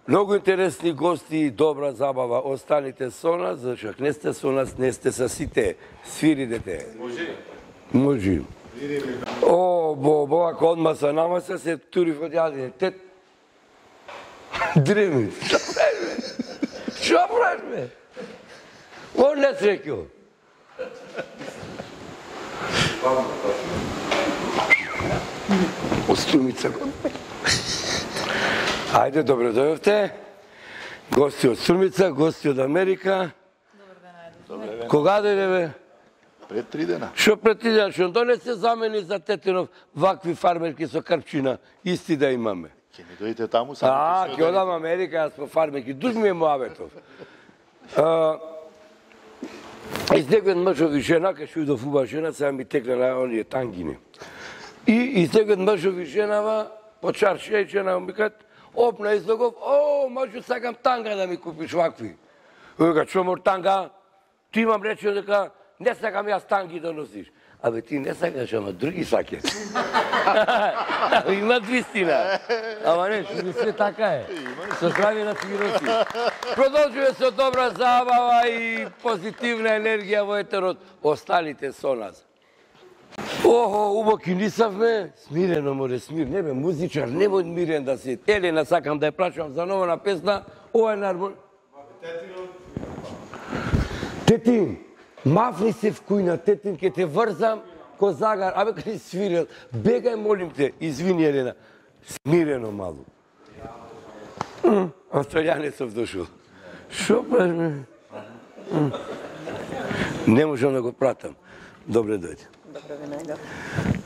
многу интересни гости, добра забава. Останите со нас, зашто не сте со нас, не сте са сите. Свири, дете. Може. Може. О, бо, ако одма са намаса, се тури во јадине. Тет... Дреми. Што правиш, бе? Што правиш, бе? Он не срекил. Остумица. Ајде, добре дојавте. Гости од Струмица, гости од Америка. Добар ден. Кога дојде, бе? Пред 3 дена. Што пред 3 дена? Што не се замени за Тетинов вакви фармерки со крпчина, исти да имаме. Ќе не дојдете таму сами. Ќе одам Америка, јас по фармерки. Дуж ми е муабетов. Издегвен мъжови жена, кај што идов уба жена, сега ми текна на оние тангини. И издегвен мъжови женава, по чаршија и жена ми кат, опна излогов, о, мъжу, сакам танга да ми купиш вакви. Вика, што мор танга? Ти имам рече дека не сакам јас танги да носиш. Абе, ти не сакаш, ама други саке. Има вистина. Ама не, што се така е. Со здравје на фигуроси. Продолжуваме со добра забава и позитивна енергија во етерот. Останите со нас. Охо, убаки нисавме. Смирено, море, смир. Не бе, музичар, немој мирен да си. Елена, сакам да ја прашувам за нова песна. Ова е нармон... Тетин, мафни се в кујна, Тетин, ке те врзам ко загар. Абе, кај свирел, бегај, молим те, извини, Елена. Смирено малу. Австралијанецов дошол. Шо правиш? Не можам да го пратам. Добре дојде. Добро ве најдов.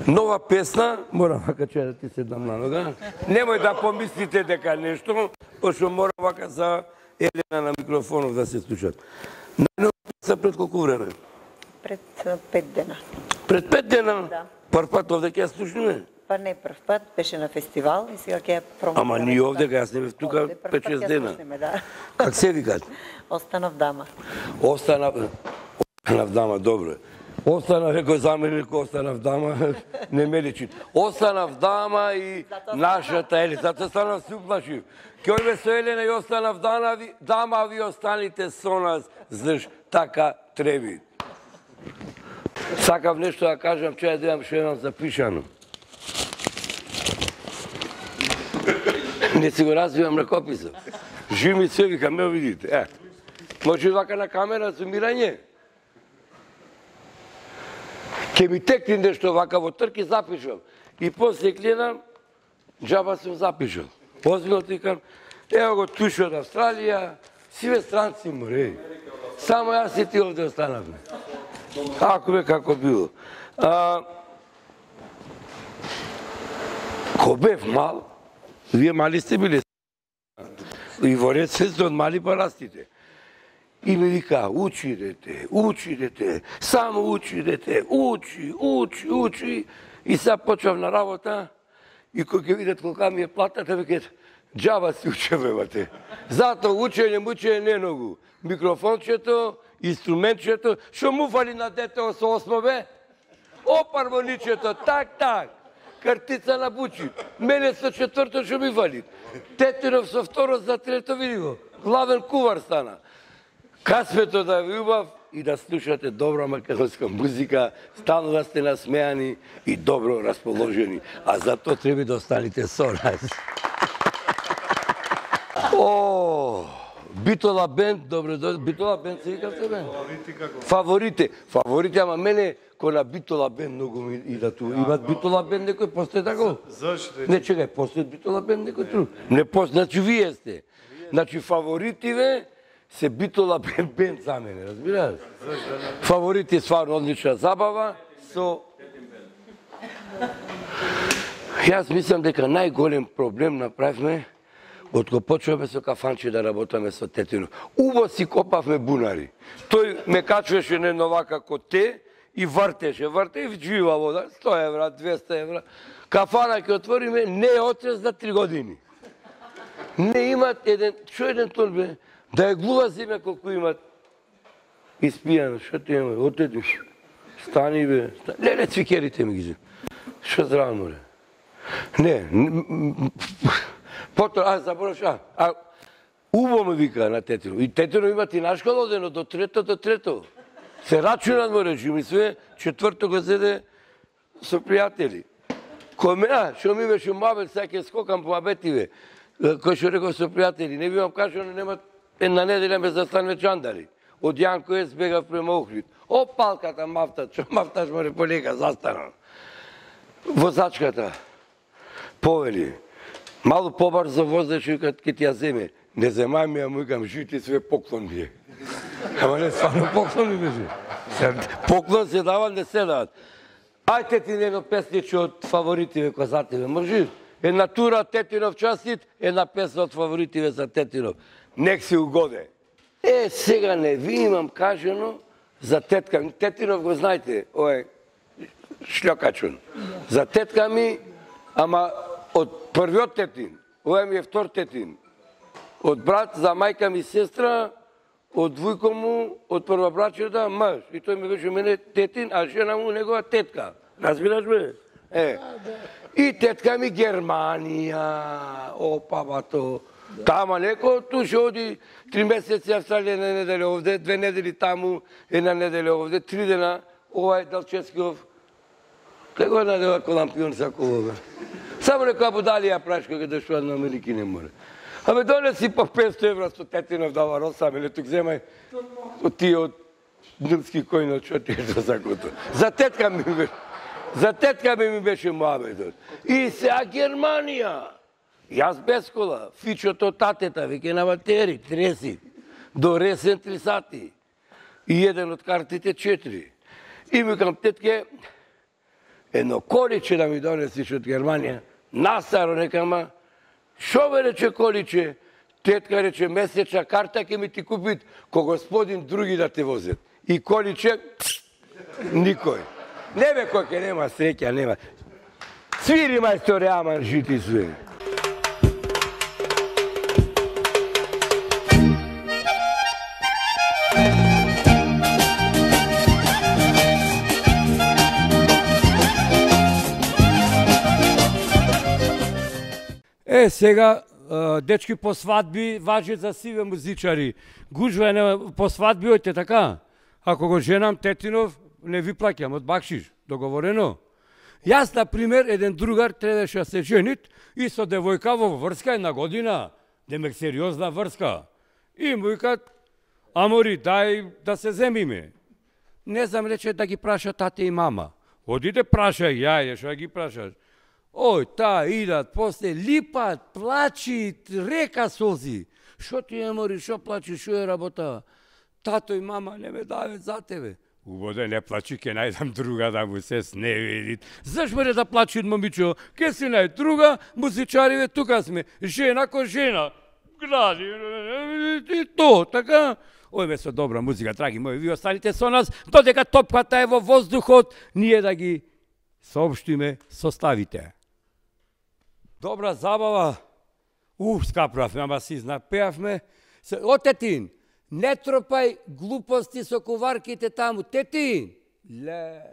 Нова песна, морам вака че да ти седам на нога. Немој да помислите дека нешто, пошто мора вака за Елена на микрофонов да се слушат. Најнова песна пред колку време? Пред 5 дена. Пред 5 дена? Да. Прв пат овде ќе ја слушнеме? Па не прв пат, беше на фестивал и сега ќе ја промотираме. Ама ние овде, јас не бев тука 5-6 дена. Да. Как се викат? Останав дама. Останав дама, добро. Останав, некој заменик, останав дама, не ме личи. Останав дама и нашата Елена, затоа станав се уплашив. Ке ојме со Елена и останав дама, ви останите со нас, заш така треби. Сакав нешто да кажам, че ја имам што имам запишано. Не си го развивам ракописот. Жив ми се вика, ме видите. Може вака на камера, зумирање. Ке ми текне нешто вака во трки, запишам. И после гледам, джаба сум запишал. Озбилно викам, ево го туш од Австралија, сиве странци море. Само јас и ти овде останавме. Како било. Ко бев мал, вие мали сте биле. И во ред се од мали парастите. И ми вика, учи дете, само учи дете, учи. И сега почнав на работа и кој ќе видат колка ми е платата, викат, джаба си учевевате. Затоа учење не многу. Микрофончето, инструментчето, шо му фали на детето со осмове? Опармоничето, так. Картица на бучи. Мене со четврто шо ми фали. Тетинов со второ за трето, види го. Главен кувар стана. Касмето да ви убав и да слушате добра македонска музика, стално да сте насмејани и добро расположени. А за тоа треба да останете со нас. Битола бенд, добро дојде. Битола бенд се вика се бе? Фаворите. Фаворите, ама мене кој на Битола бенд многу ми ида ту. Имат Битола бенд некој, постои тако? Зашто? Не, чекај, постои Битола бенд некој ту. Не постои, значи вие сте. Значи фаворитиве се Битола бенд за мене, разбираш? Фаворити стварно одлична забава со... Јас мислам дека најголем проблем направивме откако почнавме со кафанче да работаме со Тетинов. Убо си копавме бунари. Тој ме качваше на едно вака ко те и вртеше и вџива вода, 100 евра, 200 евра. Кафана ќе отвориме, не е отрез за 3 години. Не имат еден тон бе, да е глува земја колку имат испијано, шо те има, отеди, стани бе, леле цвикерите ми ги зем. Шо здраво море? Не, потоа, забораш, убо ме вика на Тетинов. И Тетинов има и наш колодено, до трето. Се рачунат море, ми све, четврто го зеде со пријатели. Шо ми беше мабел, сега ќе скокам по абетиве. Кој што реков со пријатели, не бивам кажано, нема една неделја ме застанме чандари. Од Јанко Ес бегав према Охрид. О, палката мафта, што мафташ море полека, застанал. Возачката повели, малу побрзо возеш и ке ти ја земе. Не земај ми, ја му викам, жити све поклон ми е. Ама не, стварно поклон ми беше. Поклон се дават, не се дават. Ајте ти едно песниче од фаворитиве козативе, може? Една тура Тетинов частит, една песна од фаворитиве за Тетинов. Нек си угоде. Сега не ви имам кажено за тетка. Тетинов го знаете, ој шлјокачун. За тетка ми, ама од првиот Тетин, овој ми е втор Тетин. Од брат за мајка ми сестра, од вујко му, од првобрачета, маж. И тој ми беше мене Тетин, а жена му негова тетка. Разбираш бе? И тетка ми Германија. Опа, бато. Тама неко, ту ше оди 3 месеци Австралија, една неделя овде, 2 недели таму, една неделя овде, 3 дена, овај Далческиов. Кај го надева колампион сакова, бе. Само некоја будалија прашка кај дошла на Америки не море. Абе, донеси по 500 евра со Тетинов дава Росам, или тук земај од тие од Нилски којно, што ти е за сакото. За тетка ми беше муабетот. И сега Германија. Јас без кола, фичото татета, веќе на батери, треси, до ресен 3 сати. И еден од картите 4. И ми кам тетке, едно количе да ми донесиш од Германија, настаро некама, шо бе рече количе, тетка рече месечна карта ќе ми ти купит, ко господин други да те возет. И количе, никој. Не бе кој ке нема среќа, нема. Свири мајсторе, аман жити све. Сега, дечки по свадби важи за сиве музичари. Гужва по свадби, ојте така. Ако го женам Тетинов, не ви плаќам од бакшиш. Договорено? Јас, на пример, еден другар требаше да се женит и со девојка во врска една година, демек сериозна врска. И му викат, амори, дај да се земиме. Не знам, рече да ги праша тате и мама. Одите прашај, јајде, што ги прашаш? Ој, идат, после липат, плачи, река солзи. Шо ти е, мори, шо плачи, шо е работа? Тато и мама не ме дават за тебе. Убоде, не плачи, ке најдам друга да му се сневидит. Заш море да плачи момичо? Ке си најд друга, музичариве, тука сме. Жена ко жена. Гради, и то, така? Ој бе со добра музика, драги мои, ви останите со нас, додека топката е во воздухот, ние да ги соопштиме, составите. Добра забава. Скаправме, ама си напеавме. О, Тетин, не тропај глупости со куварките таму. Тетин! Леле.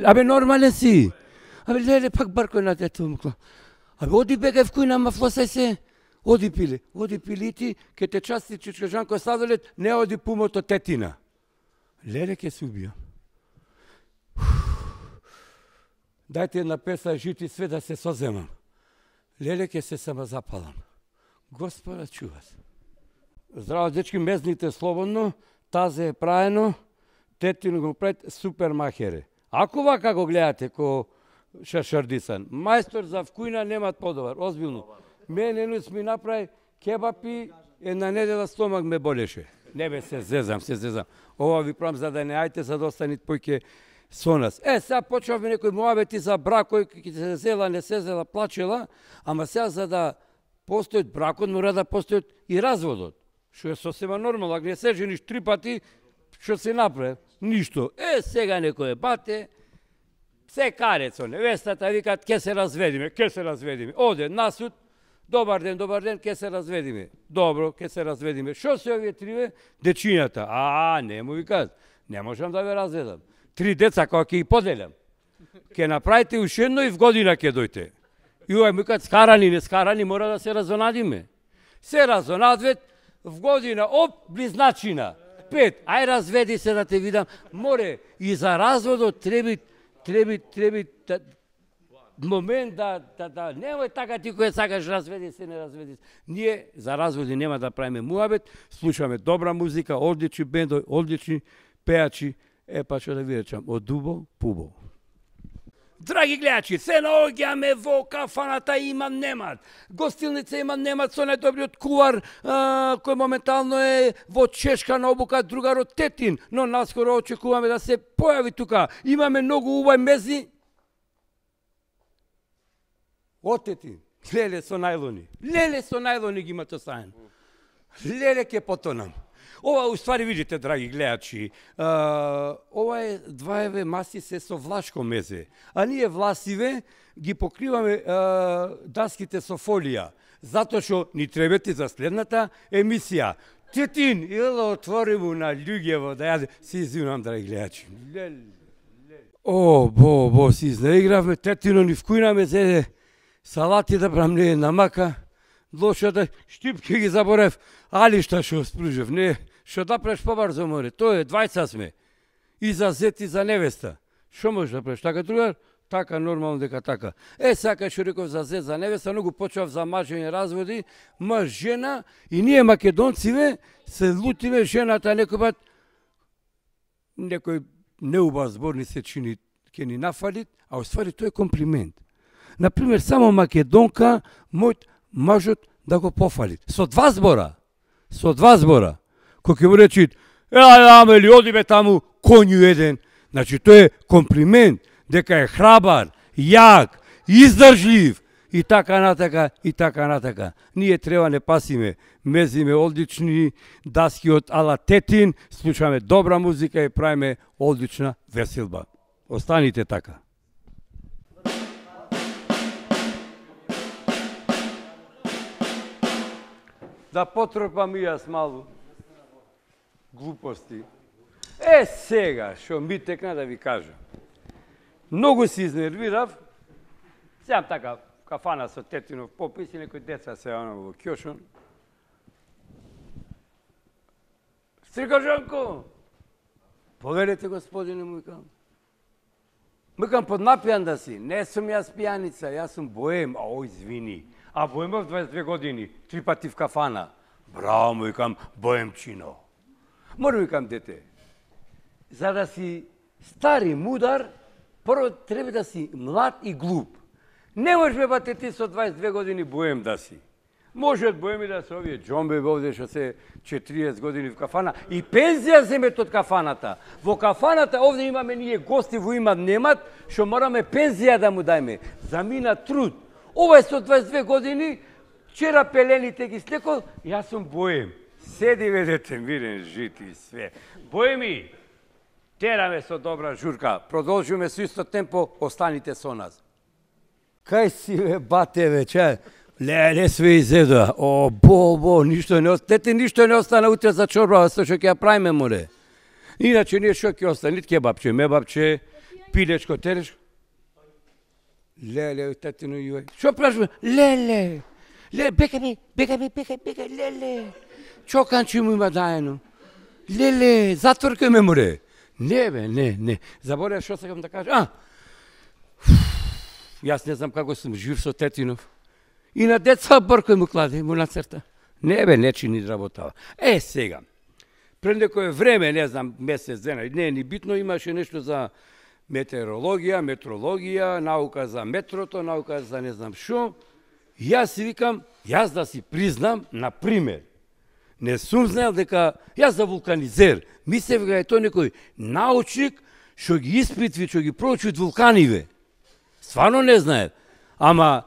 Абе, нормален си. Абе, леле, пак баркој на дето. Абе, оди бегај в кујна, ма флосај се. Оди пиле. Оди пилити, ке те части чичкажанко сладолет, не оди пумото Тетина. Леле, ке се убија. Дајте една песа, жити све да се соземам. Леле, ке се самозапалам. Господа, чува се. Здраво, дечки, мезните слободно, тазе е праено, Тетин го пред супер махере. Ако вака го гледате ко Шашардисан, мајстор за вкујна немат подобар, озбилно. Мене ми направи кебапи, една недела стомак ме болеше. Не бе, се зезам. Ова ви правам за да не ајте, за да останит појке со нас. Сега почнавме некои муабети за бракој, ки се зела, не се зела, плачела, ама сега за да постојат бракот, мора да постојат и разводот. Што е сосема нормално, ако не се жениш 3 пати, што се направи? Ништо. Сега некој бате, се каре со невестата, викат, ке се разведиме. Оде на суд, добар ден, ке се разведиме. Добро, ке се разведиме. Шо се овие триве? Дечињата. Не му викат, не можам да ве разведам. 3 деца, кога ќе ги поделам. Ке направите ушедно и в година ке дојте. И овај му викат, скарани, не скарани, мора да се разонадиме. Се разонадвет, в година, близначина. 5, ај разведи се да те видам. Море, и за разводот треби момент да немој така ти кој сакаш разведи се, не разведи се. Ние за разводи нема да правиме муабет, слушаме добра музика, одлични бендови, одлични пеачи, па што да ви речам, од дубо, пубо. Драги гледачи, се наоѓаме во кафаната имам немат. Гостилница имам немат со најдобриот кувар, кој моментално е во чешка на обука, другарот Тетин, но наскоро очекуваме да се појави тука. Имаме многу убави мези. О, Тетин, леле со најлони ги имате оставен. Леле ке потонам. Ова, уствари, видите, драги гледачи, ова е 2 маси се со влашко мезе, а ние власиве ги покриваме даските со фолија, затоа што ни требате за следната емисија. Тетин, ело, отвори му на љуѓево да јаде. Си извинувам, драги гледачи. Бо, си изнаигравме, Тетино ни вкујна мезе, салати да брам, не намака. Лошата штипки ги заборев, али шта шо спружев, не, шо да преш побарзо море, тоа е, 20 сме. И за зет и за невеста. Шо можеш да преш, така другар? Така, нормално дека така. Сака шо реков за зет, за невеста, многу почав за мажење разводи, маж, жена, и ние македонциве се лутиме жената некој пат, некој неубав збор ни се чини, ке ни нафалит, а уствари тоа е комплимент. Например, само македонка, мојот мажот да го пофали. Со 2 збора. Кој ќе му речи, Амели, одиме таму, коњу еден. Значи, тоа е комплимент, дека е храбар, јак, издржлив, и така натака. Ние треба не пасиме, мезиме одлични даски од ала Тетин, слушаме добра музика и правиме одлична веселба. Останите така. да потропам и јас малу. Глупости. Сега, шо ми текна да ви кажам. Многу се изнервирав. Сеам така кафана со тетинов попис и некои деца се во кјошон. Стрикажанко, поверете господине, му викам. Викам, поднапијан да си. Не сум јас пијаница, јас сум боем. Извини. А боемов 22 години, 3 пати в кафана. Браво, му викам, боемчино. Мора, викам, дете, за да си стар и мудар, прво треба да си млад и глуп. Не можеш бе, бате, ти со 22 години боем да си. Може од боеми да се овие џомбе овде што се 40 години в кафана и пензија земет од кафаната. Во кафаната овде имаме ние гости во имат немат, што мораме пензија да му дајме. Замина труд. Ова е со 22 години, вчера пелените ги слекол, јас сум боем. Седи ведете мирен, жит и све. Боеми, тераме со добра журка, продолжиме со исто темпо, останите со нас. Кај си бе, бате вече? Леле, све изеда. Бо, ништо не остана. Тете, ништо не остана утре за чорба, со што ќе ја правиме, море. Иначе ние што ќе остане, нит кебапче, мебапче, пилечко, телешко. Леле, татино јуј. Што прашуваме? Леле, бекај, леле. Чоканчи му има дајено. Леле, затворкај ме, море. Не, бе, не. Заборев што сакам да кажам. Јас не знам како сум жив со тетинов. И на деца бркој му кладе, му нацрта. Не бе, не чини работава. Сега, пред некој време, не знам, месец дена, не е ни битно, имаше нешто за метрологија, наука за метрото, наука за не знам шо. Јас си викам, јас да си признам, например, не сум знаел дека, јас за вулканизер, мислев дека е тој некој научник, што ги испитви, што ги проучуват вулканиве. Стварно не знаев. Ама,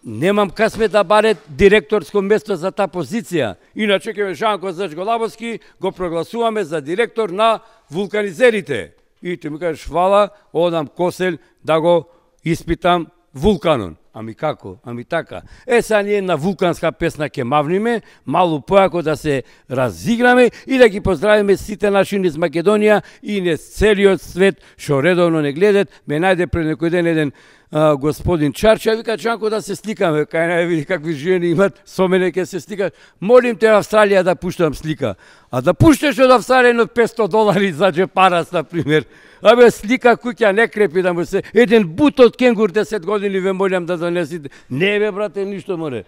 немам касме да баре директорско место за таа позиција. Иначе ќе ме Жанко Зачголабовски го прогласуваме за директор на вулканизерите. И ти ми кажеш, фала, одам Косел да го испитам вулканон. Ами како? Ами така. Сега ние на вулканска песна ќе мавниме, малу појако да се разиграме и да ги поздравиме сите наши низ Македонија и низ целиот свет што редовно не гледат. Ме најде пред некој ден еден господин Чарча, вика, Чанко, да се сликаме, кај не види какви жени имат, со мене ќе се сликаш. Молим те Австралија да пуштам слика. А да пушташ од Австралија едно $500 за джепарас, например. Абе, слика куќа не крепи да му се... Еден бут од кенгур 10 години ве молям да донесите. Не бе, брате, ништо море.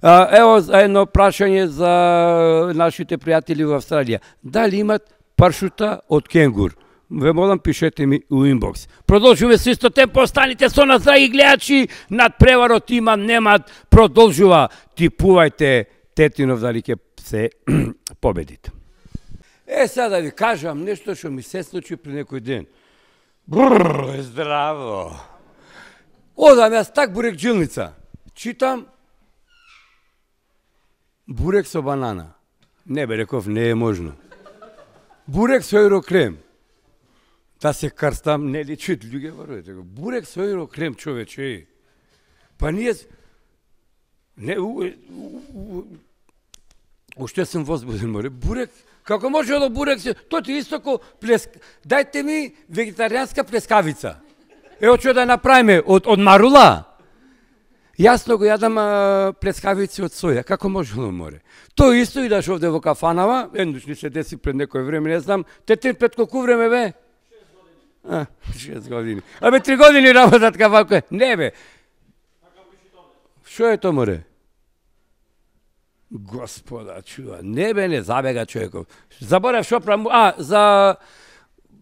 Ево едно прашање за нашите пријатели во Австралија. Дали имат паршута од кенгур? Ве молам, пишете ми у инбокс. Продолжуваме со исто темпо, останите со нас, драги гледачи. Над преварот има, немат, продолжува. Типувајте тетинов дали ќе се победите. Сега да ви кажам нешто што ми се случи при некој ден. Здраво. Одам јас так бурек джилница. Читам бурек со банана. Не бе, реков, не е можно. Бурек со еурокрем. Да се карстам, не личит луѓе варувате. Бурек со еурокрем, човече. Па ние... Не, уште сум возбуден, море. Бурек, како може да бурек се... Тоа ти исто ко Дајте ми вегетаријанска плескавица. Ево што да направиме од марула. Јасно го јадам плескавици од соја. Како може да море? Тоа исто идаш овде во кафанава, еднош ни се деси пред некој време, не знам. Тетин пред колку време бе? 6 години. Абе, 3 години работат кафако. Не бе. Шо е то море? Господа, чува. Не бе, не забега човеков. Заборав шо правам. За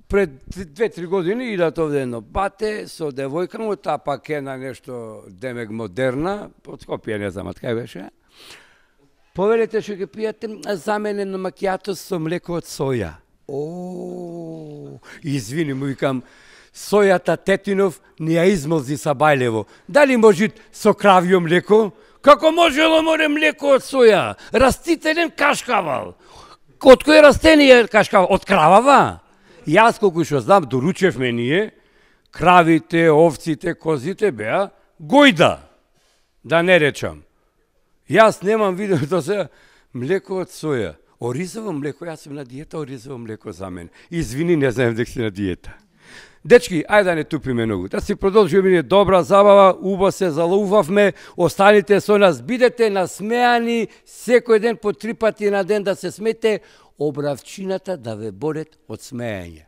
пред 2-3 години идат овде едно бате со девојка му, таа пак е на нешто демек модерна, од Скопје, не знам, кај беше. Повелете што ќе пијате за мене на макијато со млеко од соја. Извини, му викам, сојата тетинов не ја измолзи са бајлево. Дали може со кравјо млеко? Како можело море млеко од соја? Растителен кашкавал. Од кој растение кашкавал? Од кравава? Јас колку што знам, доручевме ние, кравите, овците, козите беа гојда, да не речам. Јас немам видено тоа се, Млеко од соја. Оризово млеко, јас сум на диета, оризово млеко за мен. Извини, не знаем дека си на диета. Дечки, ајде да не тупиме многу. Да си продолжиме добра забава, убаво се залоувавме, останите со нас, бидете насмеани секој ден по 3 пати на ден да се смете, обравчината да ве борет од смеење.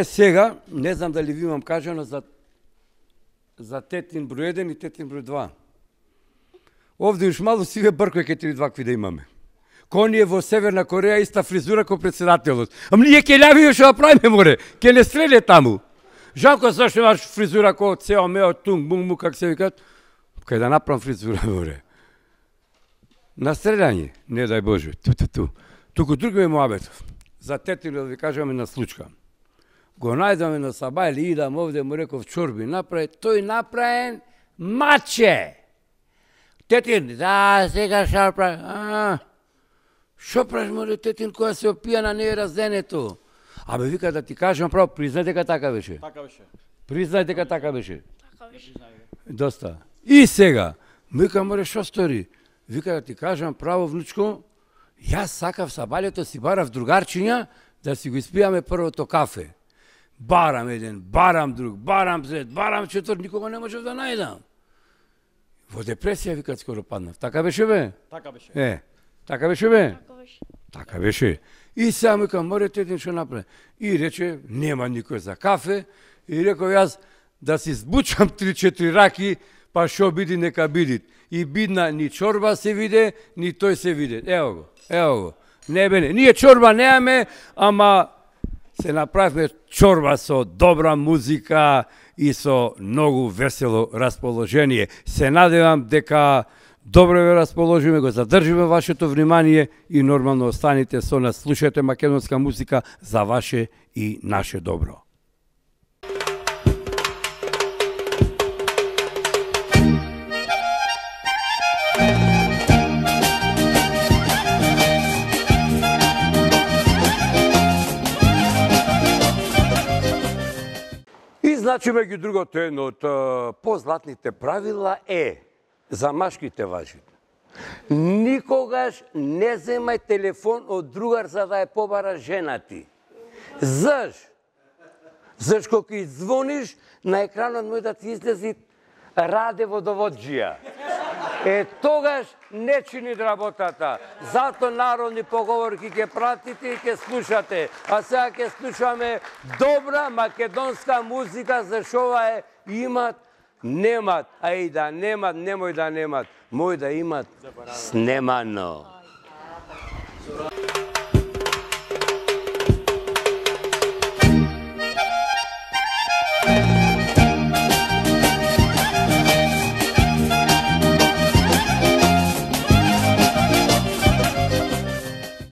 Сега, не знам дали ви имам кажано за тетин број 1 и тетин број 2. Овде уж мало си ве бркој ке 3-2 какви да имаме. Ко ние во Северна Кореја иста фризура ко председателот. Ама ние ке љави што правиме море, ке не стреде таму. Жанко, зашто имаш фризура ко цео мео тунг бунг как се викат? Кај да направам фризура море. На стредање, не дај Боже, Туку друг ме муабетов. За тетино да ви кажаме на случка. Го најдаме на Сабајли, идам овде, му реков чорби направи, тој направен маче. Тетин, да, сега шо прави. Шо правиш, море, тетин, која се опијана, не е разденето? Абе, вика да ти кажам право, признај дека така беше. Така беше. Признај дека така беше. Така беше. Доста. И сега, вика, море, шо стори? Вика да ти кажам право, внучко, јас сакав Сабајлето си барав другарчиња да си го испијаме првото кафе. Барам еден, барам друг, барам трет, барам четврт, никога не можев да најдам. Во депресија, викат, скоро паднав. Така беше, бе? Така беше. Така беше, бе? Така беше. Така беше. И сега ми кам, море тетин што направи. И рече, нема никој за кафе. И реков јас, да си збучам 3-4 раки, па шо биди, нека бидит. И бидна, ни чорба се виде, ни тој се виде. Ево го. Не бе, не. Ние чорба неаме, ама се направивме чорба со добра музика и со многу весело расположение. Се надевам дека добро ве расположиме, го задржиме вашето внимание и нормално останите со нас, слушате македонска музика за ваше и наше добро. И значи меѓу другото едно од позлатните правила за машките важи. Никогаш не земај телефон од другар за да ја побара жена ти. Зашто кога звониш, на екранот може да ти излези Раде водоводжија. Тогаш не чини работата. Зато народни поговорки ќе пратите и ќе слушате. А сега ќе слушаме добра македонска музика, зашто ова имат, немат. А и да немат, немој да немат. Мој да имат снемано.